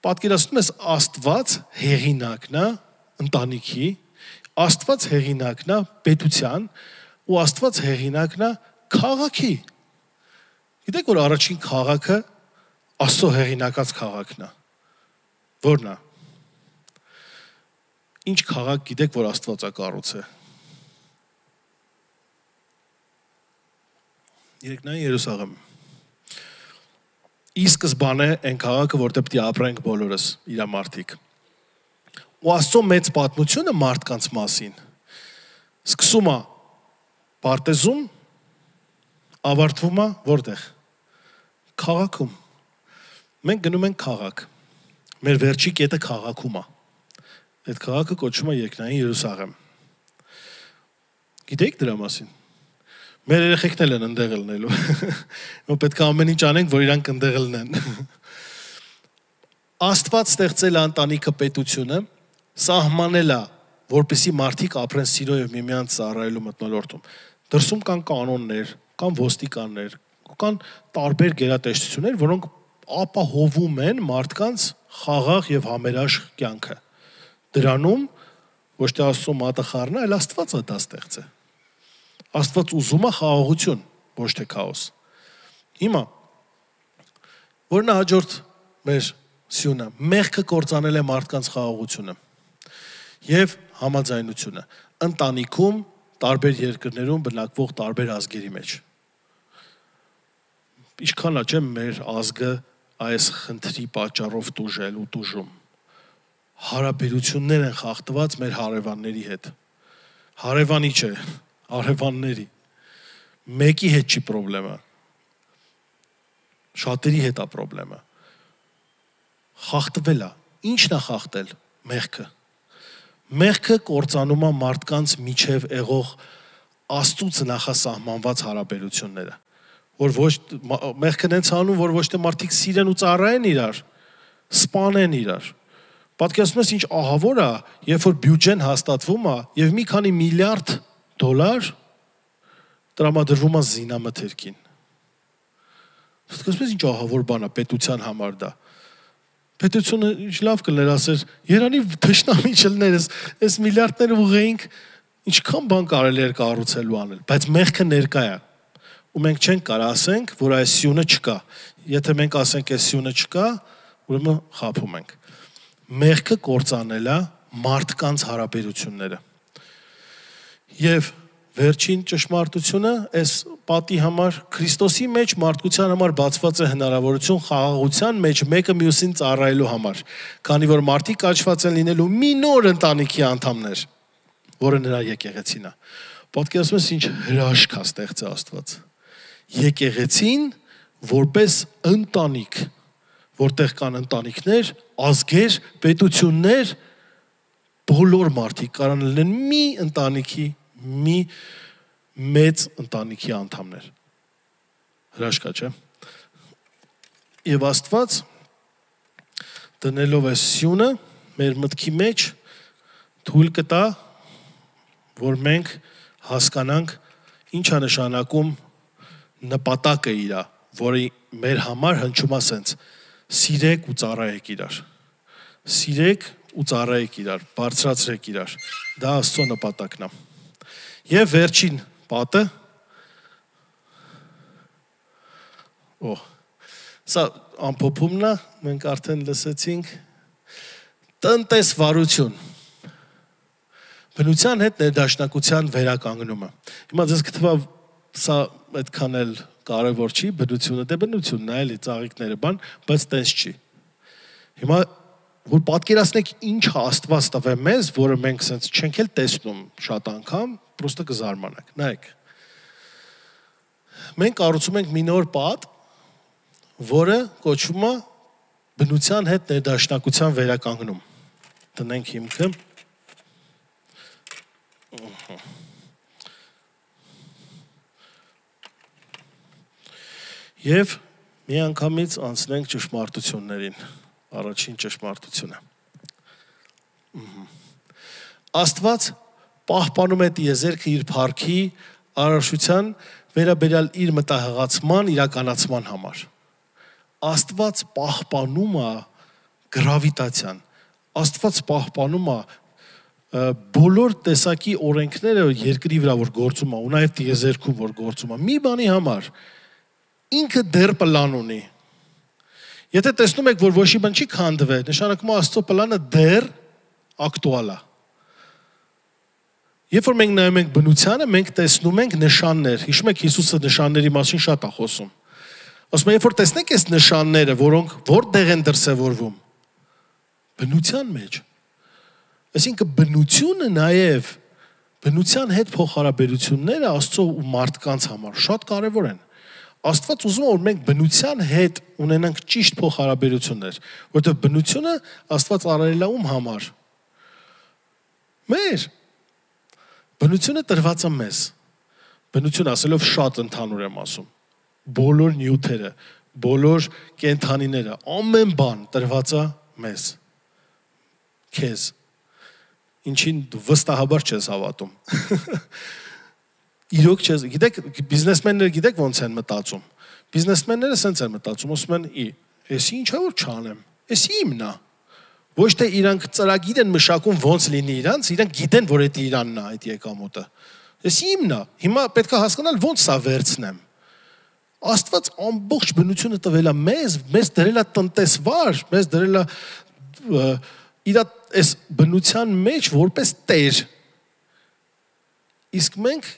Պատկերացնում ես Աստված հեղինակն է ընտանիքի, Աստված հեղինակն է պետության ու Աստված հեղինակն է քաղաքի։ Գիտեք, որ առաջին քաղաքը Աստծո հեղինակած քաղաքն է։ Որն է։ Ինչ քաղաք գիտեք, որ Աստված է կառուցել։ Երկնային Երուսաղեմ։ Ի սկզբանե այն քաղաքը, որտեղ պետք է ապրենք բոլորս, իր մարդիկ։ Ու Աստծո մեծ պատմությունը մարդկանց մասին սկսում է Պարտեզում, ավարտվում է որտեղ։ Քաղաքում։ Մենք գնում ենք քաղաք։ Մեր վերջի կետը քաղաքում է։ Այդ քաղաքը կոչվում է Երկնային Երուսաղեմ։ Գիտեք դրա մասին։ Մեր երեխեքն էլ են ընդեղ լինելու։ Մենք պետք է ամեն ինչ անենք, որ իրանք ընդեղ լինեն։ Աստված ստեղծել է ընտանիքը պետությունը, սահմանել է, որպեսզի մարդիկ ապրեն սիրո եւ միմյանց ծառայելու մթնոլորտում։ Դրսում կան կանոններ, կան ոստիկաններ, կան տարբեր գերատեսչություններ, որոնք ապահովում են մարդկանց խաղաղ եւ համերաշխ կյանքը։ Դրանում ոչ թե Աստծո մատը խառնա, այլ Աստված է դա ստեղծել։ Աստված ուզում է խաղաղություն, ոչ թե քաոս։ Հիմա որն է հաջորդ մեր սյունը, մեղքը կործանել է մարդկանց խաղաղությունը եւ համաձայնությունը ընտանիքում, տարբեր երկրներում բնակվող տարբեր ազգերի մեջ։ Ինչքան է չէ մեր ազգը այս խնդրի պատճառով տուժել ու տուժում։ Հարաբերություններ են խախտված մեր հարևանների հետ։ Հարևանի չէ, հարևանների։ Մեկի հետ չի խնդրեմը։ Շատերի հետ է խնդրեմը։ Խախտվել է։ Ի՞նչն է խախտել։ Մեղքը։ Մեղքը կործանում է մարդկանց միջև եղող Աստծուց նախասահմանված հարաբերությունները։ Որ ոչ մեղքն են ցանում, որ ոչ թե մարդիկ սիրեն ու ծառայեն իրար, սպանեն իրար։ Պատկերացնում ես ինչ ահավոր է, երբ որ բյուջեն հաստատվում է եւ մի քանի միլիարդ դոլար տրամադրվում է զինամթերքին։ Պատկերացնում ես ինչ ահավոր բան է պետության համար դա։ Պետությունը ինչ լավ կլներ ասեր, երանի թշնամի չլներ, այս միլիարդները ուղեինք, ինչքան բան կարելի էր կառուցելու անել, բայց մեղքը ներկա է։ Ու մենք չենք կարող ասենք, որ այս սյունը չկա։ Եթե մենք ասենք այս սյունը չկա, ուրեմն խաբում ենք։ Մեղքը կործանել է մարդկանց հարաբերությունները։ Եվ վերջին ճշմարտությունը այս պատի համար Քրիստոսի մեջ մարդկության համար բացված է հնարավորություն խաղաղության մեջ մեկը մյուսին ծառայելու համար, քանի որ մարդիկ աճված են լինելու մի նոր ընտանիքի անդամներ, որը նրա եկեղեցին է։ Պատկերացնում ես ինչ հրաշք է ստեղծել Աստված։ Եկեղեցին որպես ընտանիք, որտեղ կան ընտանիքներ, ազգեր, պետություններ, բոլոր մարդիկ կարող են լինեն մի ընտանիքի, մի մեծ ընտանիքի անդամներ։ Հրաշքա, չէ՞։ Եվ Աստված դնելով է սյունը մեր մտքի մեջ թույլ կտա, որ մենք հասկանանք ինչ է նշանակում նպատակը իրա, որը մեր համար հնչում է սենց. սիրեք ու ծառայեք իրար։ Սիրեք ու ծառայեք իրար, բարձրացրեք իրար։ Դա Աստծո նպատակն է։ Եվ վերջին պատը, օ, սա ամփոփումն է, մենք արդեն լսեցինք, տնտեսվարություն, բնության հետ ներդաշնակության վերականգնումը։ Հիմա ձեզ կթվա սա այդքան էլ կարևոր չի, բնությունը դե բնությունն է, էլի ծաղիկները բան, բայց տես չի։ Հիմա որ պատկերացնեք ինչ Աստված տվե մեզ, որը մենք սենց չենք էլ տեսնում շատ անգամ, պրոստը կզարմանանք։ Նայեք։ Մենք կառուցում ենք մի նոր պատ, որը կոչվում է բնության հետ ներդաշնակության վերականգնում։ Տնենք հիմքը։ Եվ մի անգամից անցնենք ճշմարտություններին, առաջին ճշմարտությունը։ Աստված պահպանում է տիեզերքը իր փառքի արարչության վերաբերյալ իր մտահղացման իրականացման համար։ Աստված պահպանում է գրավիտացիան, Աստված պահպանում է բոլոր տեսակի օրենքները երկրի վրա որ գործում է, ու նաև տիեզերքում որ գործում է, մի բանի համար ինքը դեռ պլան ունի։ Եթե տեսնում եք, որ ոչ մի բան չի քանդվել, նշանակում է Աստծո պլանը դեռ ակտուալ է։ Երբ որ մենք նայում ենք բնությանը, մենք տեսնում ենք նշաններ։ Հիշում եք Հիսուսը նշանների մասին շատ է խոսում։ Ասում է, երբ որ տեսնեք այս նշանները, որոնք որտեղ են դրսևորվում, բնության մեջ։ Այսինքն բնությունը նաև բնության հետ փոխհարաբերությունները Աստծո ու մարդկանց համար շատ կարևոր են։ Աստված ուզում է, որ մենք բնության հետ ունենանք ճիշտ փոխհարաբերություններ, որովհետև բնությունը Աստված արարել է ում համար։ Մեր բնությունը տրված է մեզ։ Բնություն ասելով շատ ընդհանուր եմ ասում։ Բոլոր նյութերը, բոլոր կենդանիները, ամեն բան տրված է մեզ։ Քեզ։ Ինչին դու վստահաբար չես հավատում։ Իրոք չես, գիտեք, բիզնեսմենները գիտեք ոնց են մտածում։ Բիզնեսմենները սենց են մտածում, ասում են՝ «Ի, էսի ինչա որ չանեմ, էսի իմն է»։ Ոչ թե իրանք ծրագիր են մշակում ոնց լինի իրանց, իրանք գիտեն, որ դա իրանն է այդ եկամուտը։ Էսի իմն է։ Հիմա պետք է հասկանալ ոնց սա վերցնեմ։ Աստված ամբողջ բնությունը տվել է մեզ, մեզ դրել է տնտեսվար, մեզ դրել է իր այս բնության մեջ որպես տեր։ Իսկ մենք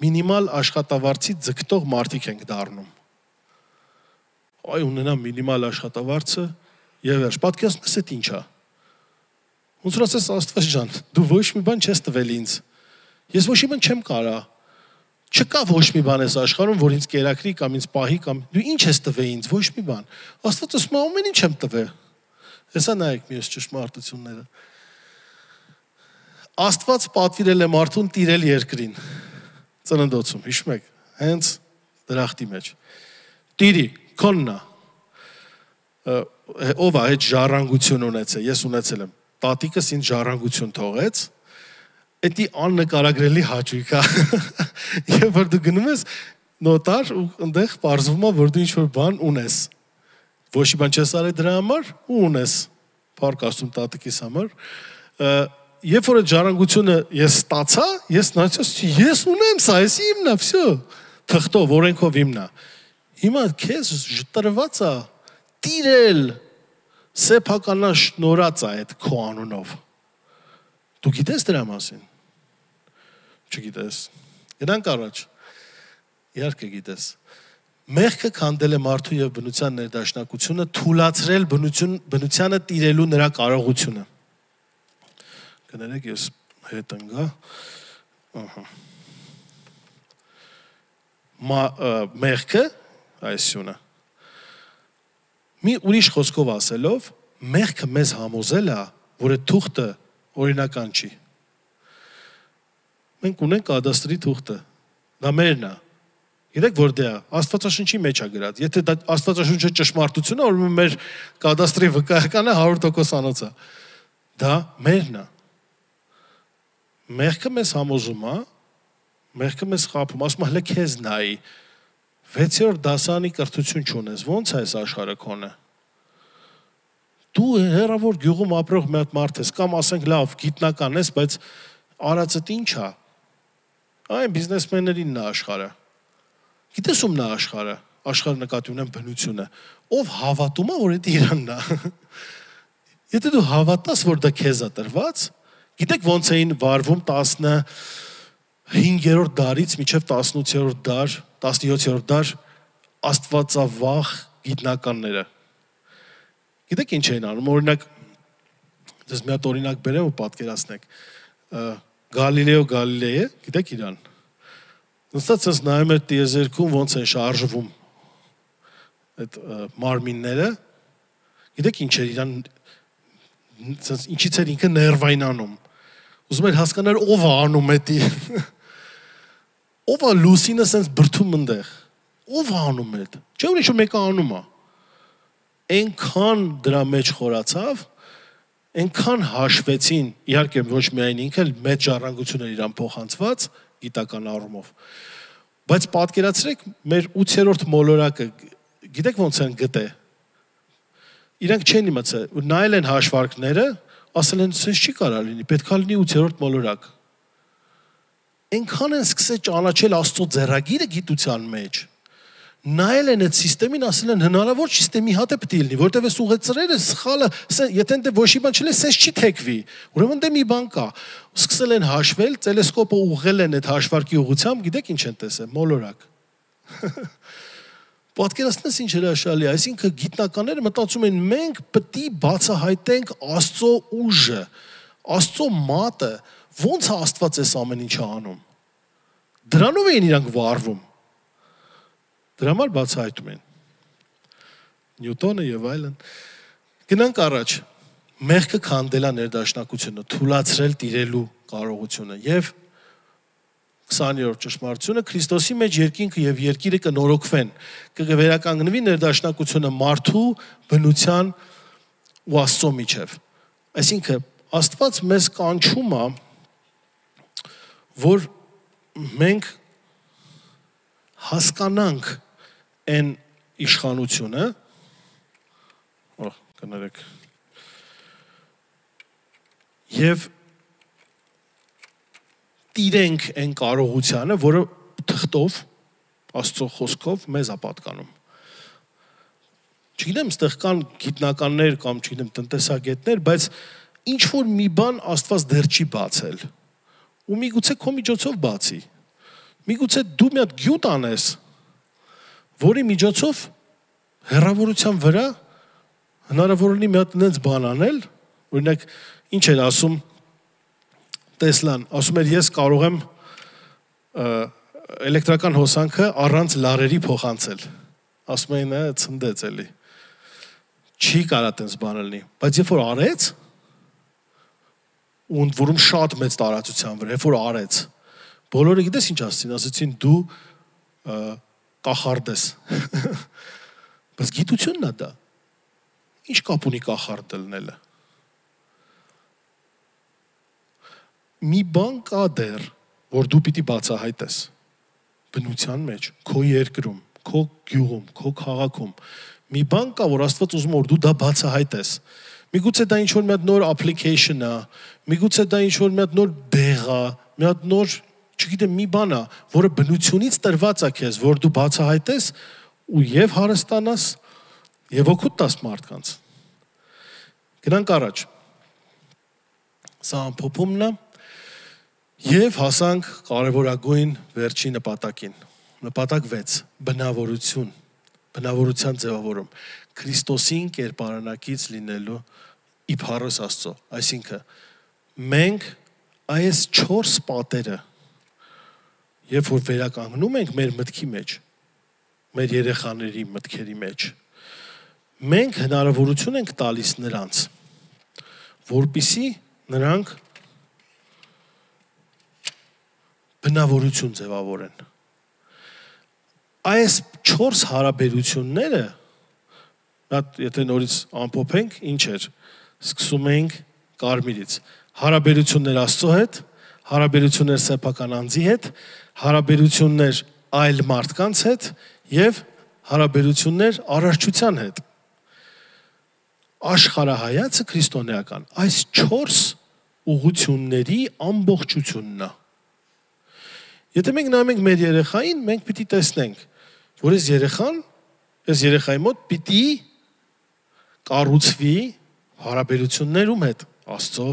մինիմալ աշխատավարձի ձգտող մարդիկ ենք դառնում։ Այ ունենա մինիմալ աշխատավարձը եւ վերջ։ Պատկերացնում ես այդ ինչա։ Ոնց որ ասես Աստված ջան, դու ոչ մի բան չես տվել ինձ։ Ես ոչ մի բան չեմ կարա։ Չկա ոչ մի բան այս աշխարհում, որ ինձ կերակրի կամ ինձ պահի կամ դու ինչ ես տվել ինձ, ոչ մի բան։ Աստված ասում է ամեն ինչ եմ տվել։ Հեսա նայեք մյուս ճշմարտությունները։ Աստված պատվիրել է մարդուն տիրել երկրին։ Ծննդոցում, հիշում եք, հենց դրախտի մեջ։ Տիրի, քոննա։ Ով է այդ ժառանգություն ունեցել, ես ունեցել եմ։ Տատիկս ինձ ժառանգություն թողեց, էդի աննկարագրելի հաճույք է։ Եվ որ դու գնում ես նոտար ու այնտեղ պարզվում է, որ դու ինչ-որ բան ունես։ Ոչ մի բան չես արել դրա համար ու ունես։ Փառք Աստծուն տատիկիս համար։ Երբ որ այդ ժառանգությունը ես ստացա, ես նայեցի, ես ունեմ սա, ես իմն է, վсё։ Թղթով, օրենքով իմն է։ Հիմա քեզ տրված է տիրել, սեփականա շնորհած է այդ քո անունով։ Դու գիտես դրա մասին։ չգիտես։ Գնանք առաջ։ Իհարկե գիտես։ Մեղքը քանդել է մարդու եւ բնության ներդաշնակությունը, թուլացրել բնություն բնությանը տիրելու նրա կարողությունը։ Կներեք, ես հետ ընկա։ Ահա։ Մեղքը, այսինքն մի ուրիշ խոսքով ասելով, մեղքը մեզ համոզել է, որ այդ թուղթը օրինական չի։ Մենք ունենք կադաստրի թուղթը, դա մերն է։ Գիտեք որտե է, Աստվածաշնչի մեջ է գրած։ Եթե դա Աստվածաշունչը ճշմարտություն է, ուրեմն մեր կադաստրի վկայականը հարյուր տոկոս անոց է։ Դա մերն է։ Մեղքը մեզ համոզում է, մեղքը մեզ խաբում, ասում է հələ քեզ նայի։ վեցերորդ դասանի կրթություն չունես, ո՞նց է այս աշխարհը քոնը։ Դու հերավոր գյուղում ապրող մի հատ մարդ ես, կամ ասենք լավ, գիտնական ես, բայց արածդ ինչ է։ Այն բիզնեսմեններինն է աշխարհը։ Գիտես ումն է աշխարհը, աշխարհը նկատի ունեմ բնությունը, ով հավատում է, որ դա Իրանն է։ Եթե դու հավատաս, որ դա քեզ է տրված, գիտեք ոնց էին վարվում տասնհինգերորդ դարից մինչև տասնութերորդ դար, տասնյոթերորդ դար աստվածավախ գիտնականները։ Գիտեք ինչ էին անում, օրինակ, դες մի հատ օրինակ բերեմ ու պատկերացնեք։ Գալիլեո Գալիլեյը, գիտեք իրան։ Նստած ես նայում էր տիեզերքում ոնց են շարժվում այդ մարմինները։ Գիտեք ինչ էր իրան, ինչից էր ինքը ներվայնանում։ Ուզում էր հասկանալ ով է անում էդի։ Ով է լուսինը սենց բրդում ընդեղ։ Ով է անում էդ։ Չէ՞ որ ինչ-որ մեկը անում է։ Այնքան դրա մեջ խորացավ, այնքան հաշվեցին, իհարկե ոչ միայն ինքը, մեծ ժառանգություն էր իրան փոխանցված գիտական առումով։ Բայց պատկերացրեք, մեր ութերորդ մոլորակը, գիտեք ոնց են գտե։ Իրանք չեն իմացել, նայել են հաշվարկները, ասել են, սենց չի կարա լինի, պետք է լինի ութերորդ մոլորակ։ Այնքան են սկսել ճանաչել Աստծո ձեռագիրը գիտության մեջ։ Նայել են այդ սիստեմին, ասել են հնարավոր սիստեմի հատ է պետք է լինի, որտեղ այս ուղեցրերը սխալը, եթե ընդ ոչ մի բան չլի, սենց չի թեքվի։ Ուրեմն դե մի բան կա։ Սկսել են հաշվել, տելեսկոպը ուղղել են այդ հաշվարկի ուղղությամբ, գիտեք ինչ են տեսել, մոլորակ։ Պատկերացնես ինչ հրաշալի, այսինքն գիտնականները մտածում են մենք պետք է բացահայտենք Աստծո ուժը, Աստծո մատը, ո՞նց է Աստված այս ամեն ինչը անում։ Դրանով են իրանք վարվում։ Դրա համար բացահայտում են։ Նյուտոնը եւ այլն։ Գնանք առաջ։ Մեղքը քանդելա ներդաշնակությունը, թուլացրել տիրելու կարողությունը եւ քսաներորդ ճշմարտությունը Քրիստոսի մեջ երկինքը եւ երկիրը կնորոգվեն, կվերականգնվի ներդաշնակությունը մարդու բնության ու Աստծո միջև։ Այսինքն Աստված մեզ կանչում է, որ մենք հասկանանք այն իշխանությունը, օ, կներեք, եւ տիրենք այն կարողությանը, որը թղթով, Աստծո խոսքով մեզ է պատկանում։ Չգիտեմ, ստեղ կան գիտնականներ կամ չգիտեմ տնտեսագետներ, բայց ինչ որ մի բան Աստված դեռ չի բացել։ Ու միգուցե քո միջոցով բացի։ Միգուցե դու մի հատ գյուտ անես, որի միջոցով հեռավորության վրա հնարավոր լինի մի հատ նենց բան անել, օրինակ ինչ էր ասում Տեսլան, ասում էր ես կարող եմ էլեկտրական հոսանքը առանց լարերի փոխանցել։ Ասում էին, ցնդեց էլի։ Չի կարա տենց բան լինի, բայց երբ որ արեց, ու ընդ որում շատ մեծ տարածության վրա, երբ որ արեց, բոլորը գիտես ինչ ասեցին, ասեցին դու կախարդ ես։ Բայց գիտությունն է դա։ Ինչ կապ ունի կախարդ լինելը։ Մի բան կա դեռ, որ դու պիտի բացահայտես բնության մեջ, քո երկրում, քո գյուղում, քո քաղաքում։ Մի բան կա, որ Աստված ուզում որ դու դա բացահայտես։ Միգուցե դա ինչ-որ մի հատ նոր application է, միգուցե դա ինչ-որ մի հատ նոր դեղ է, մի հատ նոր, չգիտեմ, մի բան է, որը բնությունից տրված է քեզ, որ դու բացահայտես ու եւ հարստանաս, եւ օգուտ տաս մարդկանց։ Գնանք առաջ։ Սա ամփոփումն է։ Եվ հասանք կարևորագույն վերջի նպատակին։ Նպատակ վեց. բնավորություն, բնավորության ձևավորում, Քրիստոսին կերպարանակից լինելու իբարոս Աստծո, այսինքն մենք այս չորս պատերը, երբ որ վերականգնում ենք մեր մտքի մեջ, մեր երեխաների մտքերի մեջ, մենք հնարավորություն ենք տալիս նրանց, որպեսզի նրանք բնավորություն ձևավորեն։ Այս չորս հարաբերությունները, եթե նորից ամփոփենք, ինչ էր, սկսում ենք կարմիրից, հարաբերություններ Աստծո հետ, հարաբերություններ սեփական անձի հետ, հարաբերություններ այլ մարդկանց հետ եւ հարաբերություններ արարչության հետ։ Աշխարհայացքը քրիստոնեական այս չորս ուղղությունների ամբողջությունն է։ Եթե մենք նայում ենք մեր երեխային, մենք պիտի տեսնենք, որ այս երեխան, այս երեխայի մոտ պիտի կառուցվի հարաբերություններում հետ, Աստծո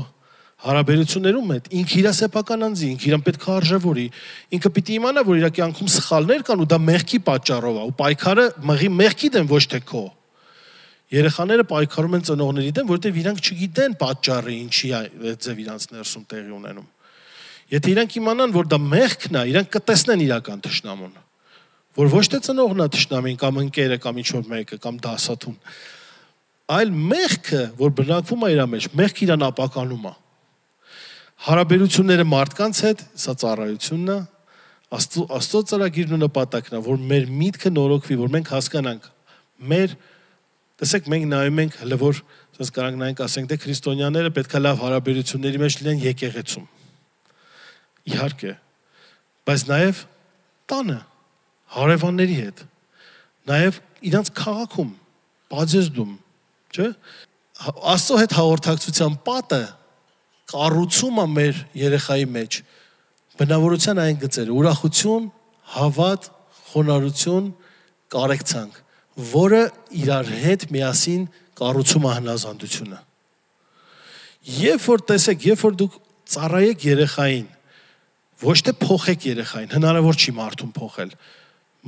հարաբերություններում հետ, ինքը իր սեփական անձի, ինքը իրան պետք է արժևորի, ինքը պիտի իմանա, որ իր կյանքում սխալներ կան ու դա մեղքի պատճառով է, ու պայքարը մղի մեղքի դեմ, ոչ թե քո։ Երեխաները պայքարում են ծնողների դեմ, որովհետև իրանք չգիտեն պատճառը ինչի է ձև իրանց ներսում տեղի ունենում։ Եթե իրանք իմանան, որ դա մեղքն է, իրանք կտեսնեն իրական թշնամուն, որ ոչ թե ծնողն է թշնամին կամ ընկերը կամ ինչ-որ մեկը կամ դասատուն, այլ մեղքը, որ բնակվում է իր մեջ, մեղքը իրան ապականում է։ Հարաբերությունները մարդկանց հետ, սա ծառայությունն է, Աստծո Աստծո ծրագիրն ու նպատակն է, որ մեր միտքը նորոգվի, որ մենք հասկանանք մեր, տեսեք, մենք նայում ենք հələ որ ասես կարանք նայենք, ասենք դե քրիստոնյաները պետք է լավ հարաբերությունների մեջ լինեն եկեղեցում։ Իհարկե, բայց նաև տանը, հարևանների հետ, նաև իրանց քաղաքում, բաժեզդում, չէ՞։ Աստծո հետ հաղորդակցության պատը կառուցում է մեր երեխայի մեջ բնավորության այն գծերը՝ ուրախություն, հավատ, խոնարհություն, կարեկցանք, որը իրար հետ միասին կառուցում է հնազանդությունը։ Երբ որ տեսեք, երբ որ դուք ծառայեք երեխային, ոչ թե փոխեք երեխային, հնարավոր չի մարդուն փոխել։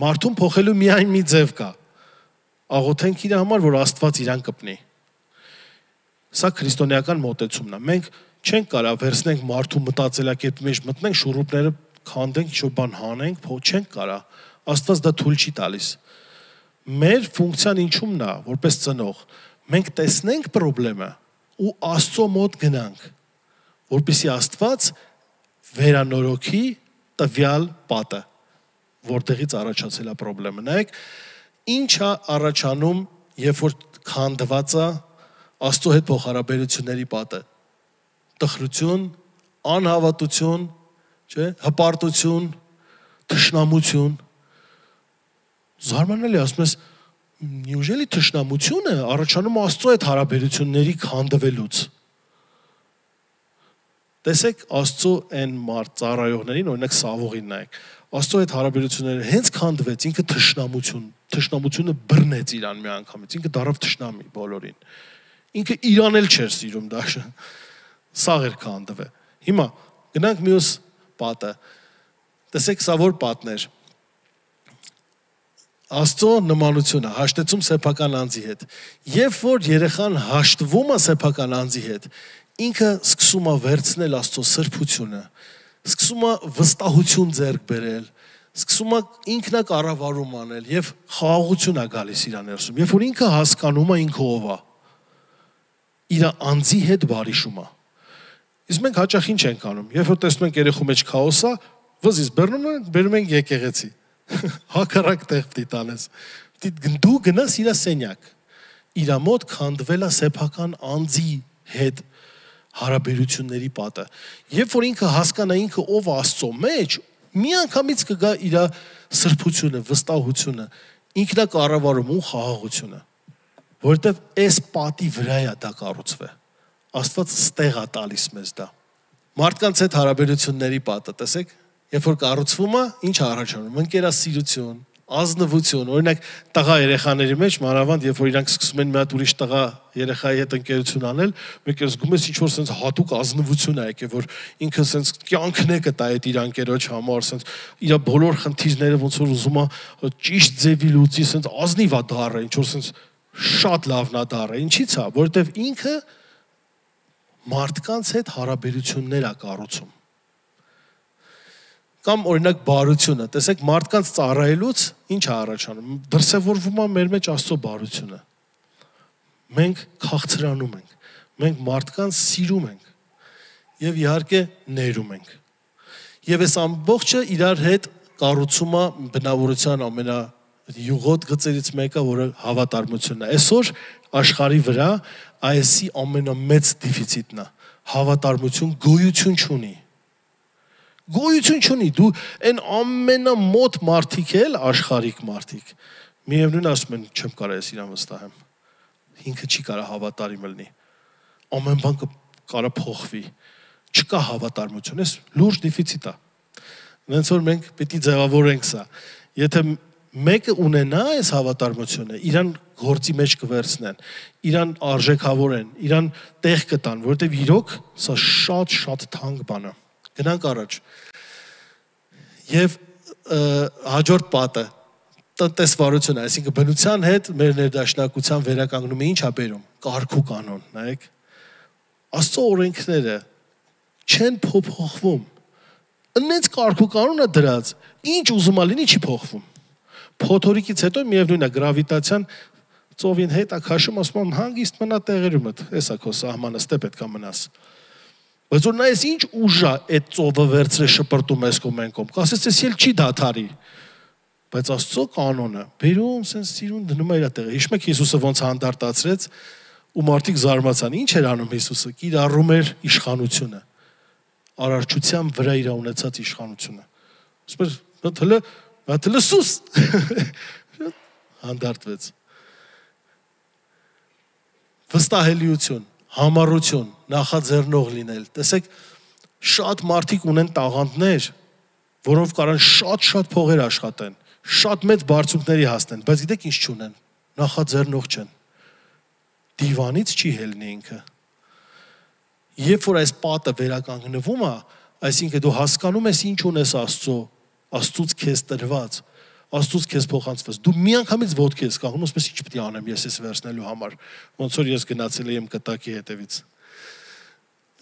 Մարդուն փոխելու միայն մի ձև կա։ Աղոթենք իր համար, որ Աստված իրան կպնի։ Սա քրիստոնեական մոտեցումն է։ Մենք չենք կարող վերցնենք մարդու մտածելակերպի մեջ մտնենք, շուռուպները քանդենք, ինչ-որ բան հանենք, փոխ չենք կարող։ Աստված դա թույլ չի տալիս։ Մեր ֆունկցիան ինչումն է, որպես ծնող, մենք տեսնենք խնդրեմը ու Աստծո մոտ գնանք, որպեսզի Աստված վերանորոգի տվյալ պատը, որտեղից առաջացել է խնդրեմը։ Նայեք, ինչ է առաջանում, երբ որ քանդված է Աստծո հետ փոխհարաբերությունների պատը։ Տխրություն, անհավատություն, չէ՞, հպարտություն, թշնամություն։ Զարմանալի, ասում ես, «Նյուժելի թշնամությունը առաջանում Աստծո հետ հարաբերությունների քանդվելուց»։ Տեսեք Աստծո այն մարդ ծառայողներին, օրինակ Սավողին նայեք։ Աստծո հետ հարաբերությունները հենց քանդվեց, ինքը թշնամություն, թշնամությունը բռնեց իրան մի անգամից, ինքը դարավ թշնամի բոլորին։ Ինքը իրան էլ չէր սիրում դա։ Սաղ էր քանդվել։ Հիմա գնանք մյուս պատը։ Տեսեք սա որ պատներ։ Աստծո նմանությունը, հաշտեցում սեփական անձի հետ։ Երբ որ երեխան հաշտվում է սեփական անձի հետ, ինքը սկսում է վերցնել Աստծո սրբությունը, սկսում է վստահություն ձեռք բերել, սկսում է ինքնակառավարում անել եւ խաղաղություն է գալիս իր ներսում։ Երբ որ ինքը հասկանում է ինքը ով է, իր անձի հետ բարիշում է։ Իսկ մենք հաճախ ինչ ենք անում։ Երբ որ տեսնում ենք երեխու մեջ քաոս է, վզից բռնում ենք, բերում ենք եկեղեցի։ Հակառակ տեղ պիտի տանես։ Դու գնաս իր սենյակ։ Իր մոտ քանդվել է սեփական անձի հետ հարաբերությունների պատը։ Երբ որ ինքը հասկանա ինքը ով է Աստծո մեջ, միանգամից կգա իր սրբությունը, վստահությունը, ինքնակառավարումը ու խաղաղությունը։ Որովհետև այս պատի վրա է դա կառուցվել։ Աստված ստեղ է տալիս մեզ դա։ Մարդկանց հետ հարաբերությունների պատը, տեսեք, երբ որ կառուցվում է, ինչ է առաջանում։ Ընկերասիրություն, ազնվություն, օրինակ տղա երեխաների մեջ մանավանդ երբ որ իրանք սկսում են մի հատ ուրիշ տղա երեխայի հետ ընկերություն անել, մեկ էլ զգում ես ինչ որ sense հատուկ ազնվություն է եկել, որ ինքը sense կյանքն է կտա այդ իր անկերոջ համար, sense իր բոլոր խնդիրները ոնց որ ուզում է ճիշտ ձևի լուծի, sense ազնիվ է դառը, ինչ որ sense շատ լավն է դառը։ Ինչի՞ց է, որովհետև ինքը մարդկանց հետ հարաբերություններ է կառուցում։ Կամ օրինակ բարությունը, տեսեք մարդկանց ծառայելուց ինչ է առաջանում, դրսևորվում է մեր մեջ Աստծո բարությունը։ Մենք քաղցրանում ենք, մենք մարդկանց սիրում ենք եւ իհարկե ներում ենք։ Եվ այս ամբողջը իրար հետ կառուցում է բնավորության ամենա յուղոտ գծերից մեկը, որը հավատարմությունն է։ Այսօր աշխարհի վրա այսի ամենամեծ դեֆիցիտն է։ Հավատարմություն գոյություն չունի։ Գոյություն չունի, դու այն ամենամոտ մարդիկ էլ աշխարհիկ մարդիկ։ Միևնույն ասում են, չեմ կարող ես իրան վստահեմ։ Ինքը չի կարող հավատարիմ լինի։ Ամեն բան կարող փոխվի։ Չկա հավատարմություն, էս լուրջ դեֆիցիտ է։ Ոնց որ մենք պիտի ձևավորենք սա։ Եթե մեկը ունենա այս հավատարմությունը, իրան գործի մեջ կվերցնեն, իրան արժեքավորեն, իրան տեղ կտան, որովհետև իրոք սա շատ-շատ թանկ բան է։ Գնանք առաջ։ Եվ հաջորդ պատը տնտեսվարությունը, այսինքն բնության հետ մեր ներդաշնակության վերականգնումը ինչ է բերում։ Կարգ ու կանոն, նայեք։ Աստծո օրենքները չեն փոփոխվում։ Ինձ կարգ ու կանոնը դրած, ինչ ուզում ա լինի չի փոխվում։ Փոթորիկից հետո միևնույն է գրավիտացիան ծովին հետ է քաշում, ասում եմ հանգիստ մնա տեղերումդ, էսա քո սահմանը, ստե պետք է մնաս։ Բայց որ նայես ինչ ուժ է այդ ծովը վերցրե շպրտում ես կողմ են կողմ, կասես էս էլ չի դադարի։ Բայց Աստծո կանոնը բերում sense սիրուն դնում է իր տեղը։ Հիշում եք Հիսուսը ոնց հանդարտացրեց ու մարդիկ զարմացան։ Ինչ էր անում Հիսուսը։ Կիրառում էր իշխանությունը։ Արարչության վրա իր ունեցած իշխանությունը։ Ասում էր, հələ հələ սուս հանդարտվեց։ Վստահելիություն, համառություն, նախաձեռնող լինել։ Տեսեք, շատ մարդիկ ունեն տաղանդներ, որոնց կարան շատ-շատ փողեր աշխատեն, շատ մեծ բարձունքների հասնեն, բայց գիտեք ինչ չունեն, նախաձեռնող չեն։ Դիվանից չի հելնի ինքը։ Երբ որ այս պատը վերականգնվում է, այսինքն դու հասկանում ես ինչ ունես Աստծո, Աստծուց քեզ տրված, Աստծուց քեզ փոխանցված։ Դու միանգամից ոտքի ես կանգնում, ասես ինչ պետք է անեմ ես էս վերցնելու համար, ոնց որ ես գնացել եմ կտակի հետևից։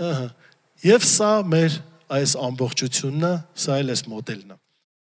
Ահա։ Եվ սա մեր այս ամբողջությունն է, սա էլ էս մոդելն է։